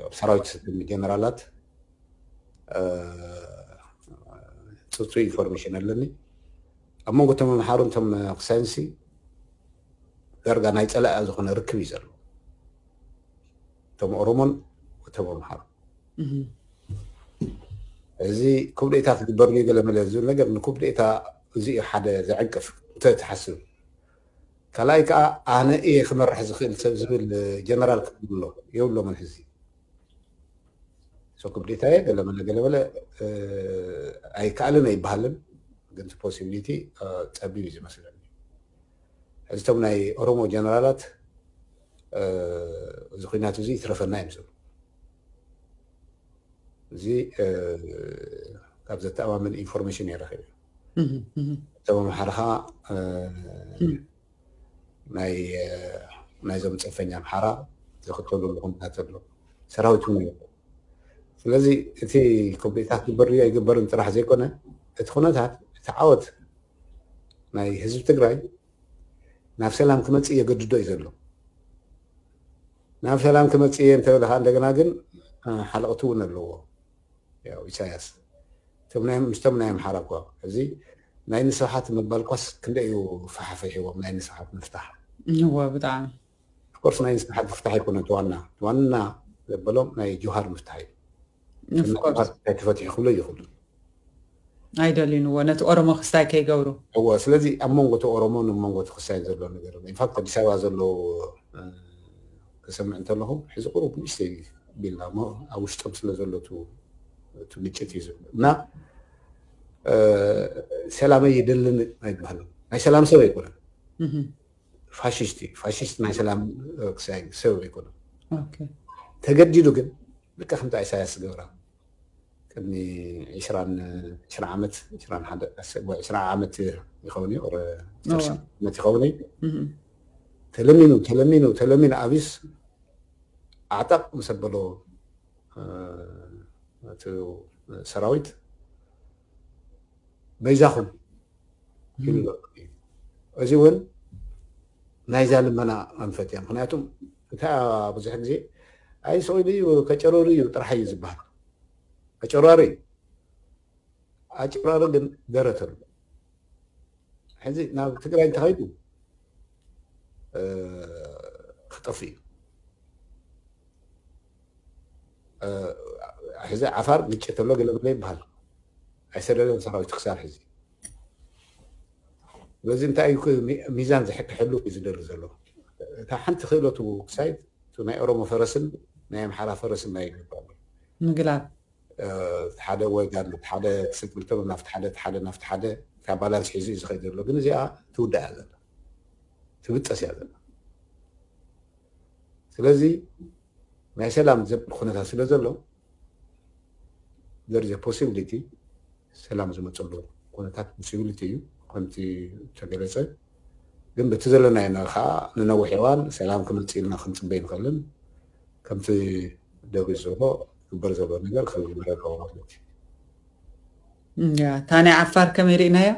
ኣብ ሰራዊት ጀነራላት ፅፁ ኢንፎርሜሽን ኣለኒ። ኣብ መንጎ እቶም መምሓሩ እቶም ክሳይንሲ ዳርጋ ናይ ፀላእ ዝኾነ ርክብ እዩ ዘሎ። እቶም ኦሮሞን እቶም ኣምሓሩ እዚ ኩብዴታ ክግበር ገለ መለ ዝብል ነገር ንኩብዴታ እዚ ሓደ ዘዕንቅፍ እንተ ትሓስብ ካልኣይ ከዓ ኣነ እየ ክመርሕ ዝኽእል ሰብ ዝብል ጀነራል ክብሎ የብሎምን። ሕዚ ኩብዴታ እየ ገለመለ ገለመለ ኣይከኣልን ኣይበሃልን። ግን ፖሲቢሊቲ ፀቢብ እዩ ዝመስለኒ። ሕዚ እቶም ናይ ኦሮሞ ጀነራላት እዚ ኩናት እዚ ይትረፈና እዮም ዝብሉ። እዚ ካብ ዘተኣማምን ኢንፎርሜሽን እየ ረኺበ። እቶም ኣምሓራ ከዓ ናይ ናይዞም ፅንፈኛ ኣምሓራ ዝኽተልሉ ኩነታት ዘሎ ሰራዊት እውን ይበሉ። ስለዚ እቲ ኮምፕሌታት ግበር ድዩ ኣይግበርን ጥራሕ ዘይኮነ እቲ ኩነታት እቲ ዓወት ናይ ህዝቢ ትግራይ ናብ ሰላም ክመፅእ የገድዶ እዩ ዘሎ። ናብ ሰላም ክመፅእ እየ እንተበለ ከዓ እንደገና ግን ሓለቕቲ እውን ኣለዎ። ያው ኢሳያስ ምስቶም ናይ ኣምሓራ እኳ እዚ ናይ ንስብሓት ምባል ኳስ ክንደይ እዩ ፈሓፈሒዎም ናይ ንስብሓት ምፍታሕ እዋ ብጣዕሚ ኮርስ ናይ ንስብሓት ምፍታሕ ኣይኮነ ዋና ዋና ዘበሎም ናይ ጆሃር ምፍታሕ እዩ። ተፈትሑ ክብሎ ይኽእሉ ኣይደልዩንዎ ነቲ ኦሮሞ ክስታይ ከይገብሩ። እዎ ስለዚ ኣብ መንጎ እቲ ኦሮሞን ኣብ መንጎ እቲ ክስታይን ዘሎ ነገር ኢንፋክት ኣዲስ ኣበባ ዘሎ ክሰምዕ እንተለኹ ሕዚ ቁሩብ ንእሽተይ ቢልና እሞ ኣብ ውሽጦም ስለ ዘሎ እቲ ግጭት እዩ ዝብል እና ሰላመይ ይደልን ኣይበሃልን ናይ ሰላም ሰብ ኣይኮነን። ፋሽስት እዩ ፋሽስት ናይ ሰላም ክሳይ ሰብ ኣይኮነን። ተገዲዱ ግን ልካ ከምቲ ኢሳያስ ዝገብራ ቅድሚ ዕስራን ዕስራ ዓመት፣ ዕስራን ሓደ፣ ዕስራ ዓመት ይኸውን እዩ፣ ኦር ዓሰርተ ዓመት ይኸውን እዩ። ተለሚኑ፣ ተለሚኑ፣ ተለሚኑ ኣቢስ ኣዕጠቕ ምስ ኣበሎ፣ እ፣ እቲ ሰራዊት በይዛኹም ኢሉ። እዚ እውን ናይዛ ልመና ኣንፈት እያ። ምኽንያቱም እንታይ ብዙሕ ግዜ ኣይ ስቕ ኢሉ እዩ፣ ከጨረሩ እዩ ጥራሕ እዩ ዝበሃል። ኣጨራሪ እዩ። ኣጨራሪ ግን ደረት ኣሎ። ሕዚ ናብ ትግራይ እንተኸይዱ፣ እ፣ ክጠፍእ እዩ። እ፣ ሕዚ ዓፋር ግጭት ኣሎ ገለ ገለ ይበሃል። ኣይሰደደን ሰራዊት ክሳብ ሕዚ። ስለዚ እንታይ እዩ ሚ-፣ ሚዛን ዝሕ-፣ ክሕሉ እዩ ዝደሊ ዘሎ። እታ ሓንቲ ክእለቱ ክሳይ፣ እቲ ናይ ኦሮሞ ፈረስን ናይ ኣምሓራ ፈረስን ናይ ይግባእ። ምግላብ። እ፣ ሓደ ወይ ጋር ሓደ ክሰጥ ክልተ ናብቲ ሓደ፣ ሓደ ናብቲ ሓደ፣ እታ ባላንስ ሒዙ እዩ ዝኸይድ ዘሎ። ግን እዚኣ ትውዳእ እያ ዘላ፣ ትብጠስ እያ ዘላ። ስለዚ ናይ ሰላም ዘብል ኩነታት ስለ ዘሎ፣ there is a possibility ሰላም ዝመፀሉ ኩነታት ፖሲቢሊቲ እዩ፣ ከምቲ ተገለፀ። ግን በቲ ዘለናዮ ነ-፣ ከዓ ንነዊሕ እዋን ሰላም ክመፅእ ኢልና ክንፅበ ኣይንኽእልን። ከምቲ ደቪድ ዝበሎ ክግበር ዘሎ ነገር ክግበር ኣለዎ ማለት እዩ። እያ፣ እታ ናይ ዓፋር ከመይ ርኢናዮ?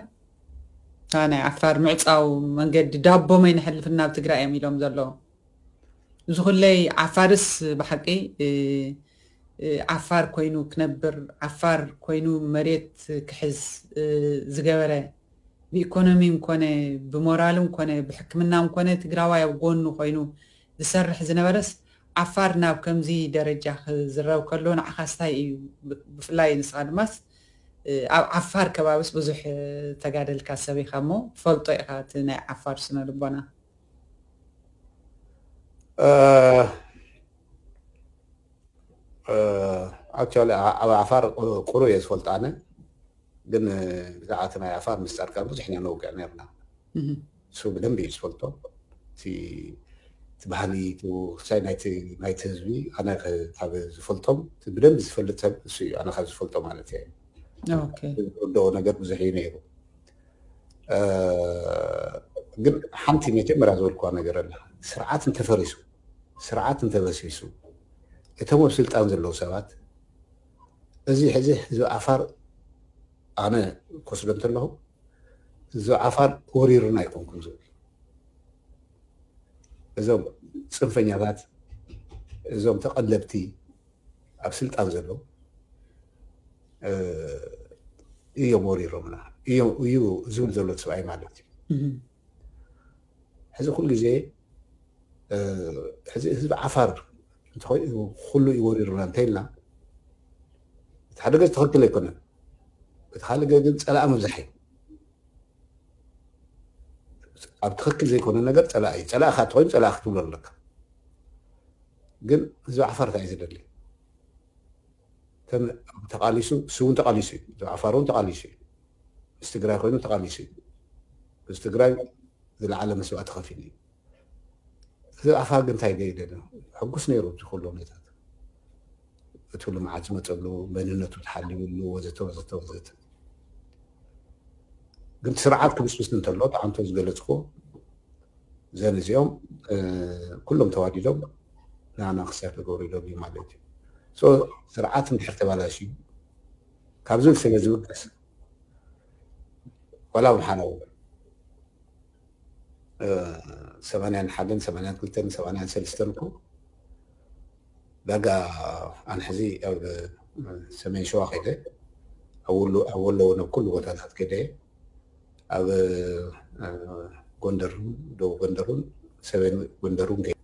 እታ ናይ ዓፋር ምዕፃው መንገዲ ዳቦም ኣይንሕልፍን ናብ ትግራይ እዮም ኢሎም ዘለዉ። እዚ ኩለይ ዓፋርስ ብሓቂ፣ እ፣ እ፣ ዓፋር ኮይኑ ክነብር፣ ዓፋር ኮይኑ መሬት ክሕዝ፣ እ፣ ዝገበረ፣ ብኢኮኖሚን ኮነ ብሞራልን ኮነ ብሕክምናን ኮነ ትግራዋይ ኣብ ጎኑ ኮይኑ ዝሰርሕ ዝነበረስ፣ ዓፋር ናብ ከምዚ ደረጃ ክዝረብ ከሎ ንዓኻስ እንታይ እዩ? ብ-፣ ብፍላይ ንስኻ ድማስ፣ እ፣ ኣብ ዓፋር ከባቢስ ብዙሕ፣ እ፣ ተጋደልካ ሰብ ኢኻ እሞ ትፈልጦ ኢኻ እቲ ናይ ዓፋር ስነ ልቦና። ኣክቹዋሊ ኣብ ዓፋር ቁሩ እየ ዝፈልጦ ኣነ። ግን ብዛዕባ እቲ ናይ ዓፋር ምስ ጻድቃን ብዙሕ ኢና ነውግዕ ነርና። እሱ ብደንብ እዩ ዝፈልጦ። እቲ፣ እቲ ባህሊ፣ እቲ ውሳይ ናይቲ፣ ናይቲ ህዝቢ ኣነ ከ-፣ ካብ ዝፈልጦም፣ እቲ ብደንብ ዝፈልጥ ሰብ እሱ እዩ፣ ኣነ ካብ ዝፈልጦ ማለት እየ። ኦኬ። ዝርድኦ ነገር ብዙሕ እዩ ነይሩ። እ፣ ግን ሓንቲ መጀመርያ ዝበልኩዋ ነገር ኣላ። ስርዓት እንተፈሪሱ፣ ስርዓት እንተበሲሱ፣ እቶም ኣብ ስልጣን ዘለዉ ሰባት፣ እዚ ሕዚ ህዝቢ ዓፋር ኣነ ክወስዶ እንተለኹ፣ ህዝቢ ዓፋር ወሪሩና ኣይኮንኩን ዝብል። እዞም ጽንፈኛታት፣ እዞም ተቐለብቲ ኣብ ስልጣን ዘለዉ፣ እ፣ እዮም ወሪሮምና። እዮም፣ እዩ ዝብል ዘሎ ሰብኣይ ማለት እዩ። እህ። ሕዚ ኩሉ ግዜ፣ እ፣ ሕዚ ህዝቢ ዓፋር እንተኾይ-፣ ኩሉ እዩ ወሪሩና እንተኢልና፣ እቲ ሓደ ገጽ ትኽክል ኣይኮነን። እቲ ካልእ ገጽ ግን ጸላኢ ምብዛሕ እዩ። ኣብ ትኽክል ዘይኮነ ነገር ጸላኢ እዩ። ጸላኢኻ እንተኾይኑ ጸላኢ ክትብሎ ኣለካ። ግን ህዝቢ ዓፋር እንታይ እዩ ዝደሊ? ተን-፣ ተቓሊሱ፣ እሱ እውን ተቓሊሱ እዩ። ህዝቢ ዓፋር እውን ተቓሊሱ እዩ። ምስ ትግራይ ኮይኑ ተቓሊሱ እዩ። ምስ ትግራይ ዝለዓለ መስዋእቲ ከፊሉ እዩ። ህዝቢ ዓፋር ግን እንታይ ደይደለ? ሕጉስ ነይሩ፣ እዚ ኩሉ ሁኔታት። እቲ ልምዓት ዝመፀሉ፣ መንነቱ ተሓሊውሉ፣ ወዘተ፣ ወዘተ፣ ወዘተ። ግን እቲ ስርዓት ክብስብስ እንተሎ፣ ጣዕምቶ ዝገለፅኩ፣ ዘን እዚኦም፣ እ፣ ኩሎም ተዋዲዶም ንዓና ክሳብ ክገብሩ ይደልዩ ማለት እዩ። ሶ፣ ስርዓት እንድሕር ተባላሽዩ፣ ካብዚ ስለ ዝብገስ፣ ዋላ ምሓነው፣ እ፣ ሰማንያን ሓደን፣ ሰማንያን ክልተን፣ ሰማንያን ሰለስተን እኮ ዳጋ ኣነ ሕዚ ኣብ ሰሜን ሸዋ ከይደ፣ ኣብ ወሎ፣ ኣብ ወሎ እውን ኣብ ኩሉ ቦታታት ከይደ፣ ኣብ፣ እ፣ ጎንደር፣ ደቡብ ጎንደር እውን፣ ሰሜን ጎንደር እውን ከይደ።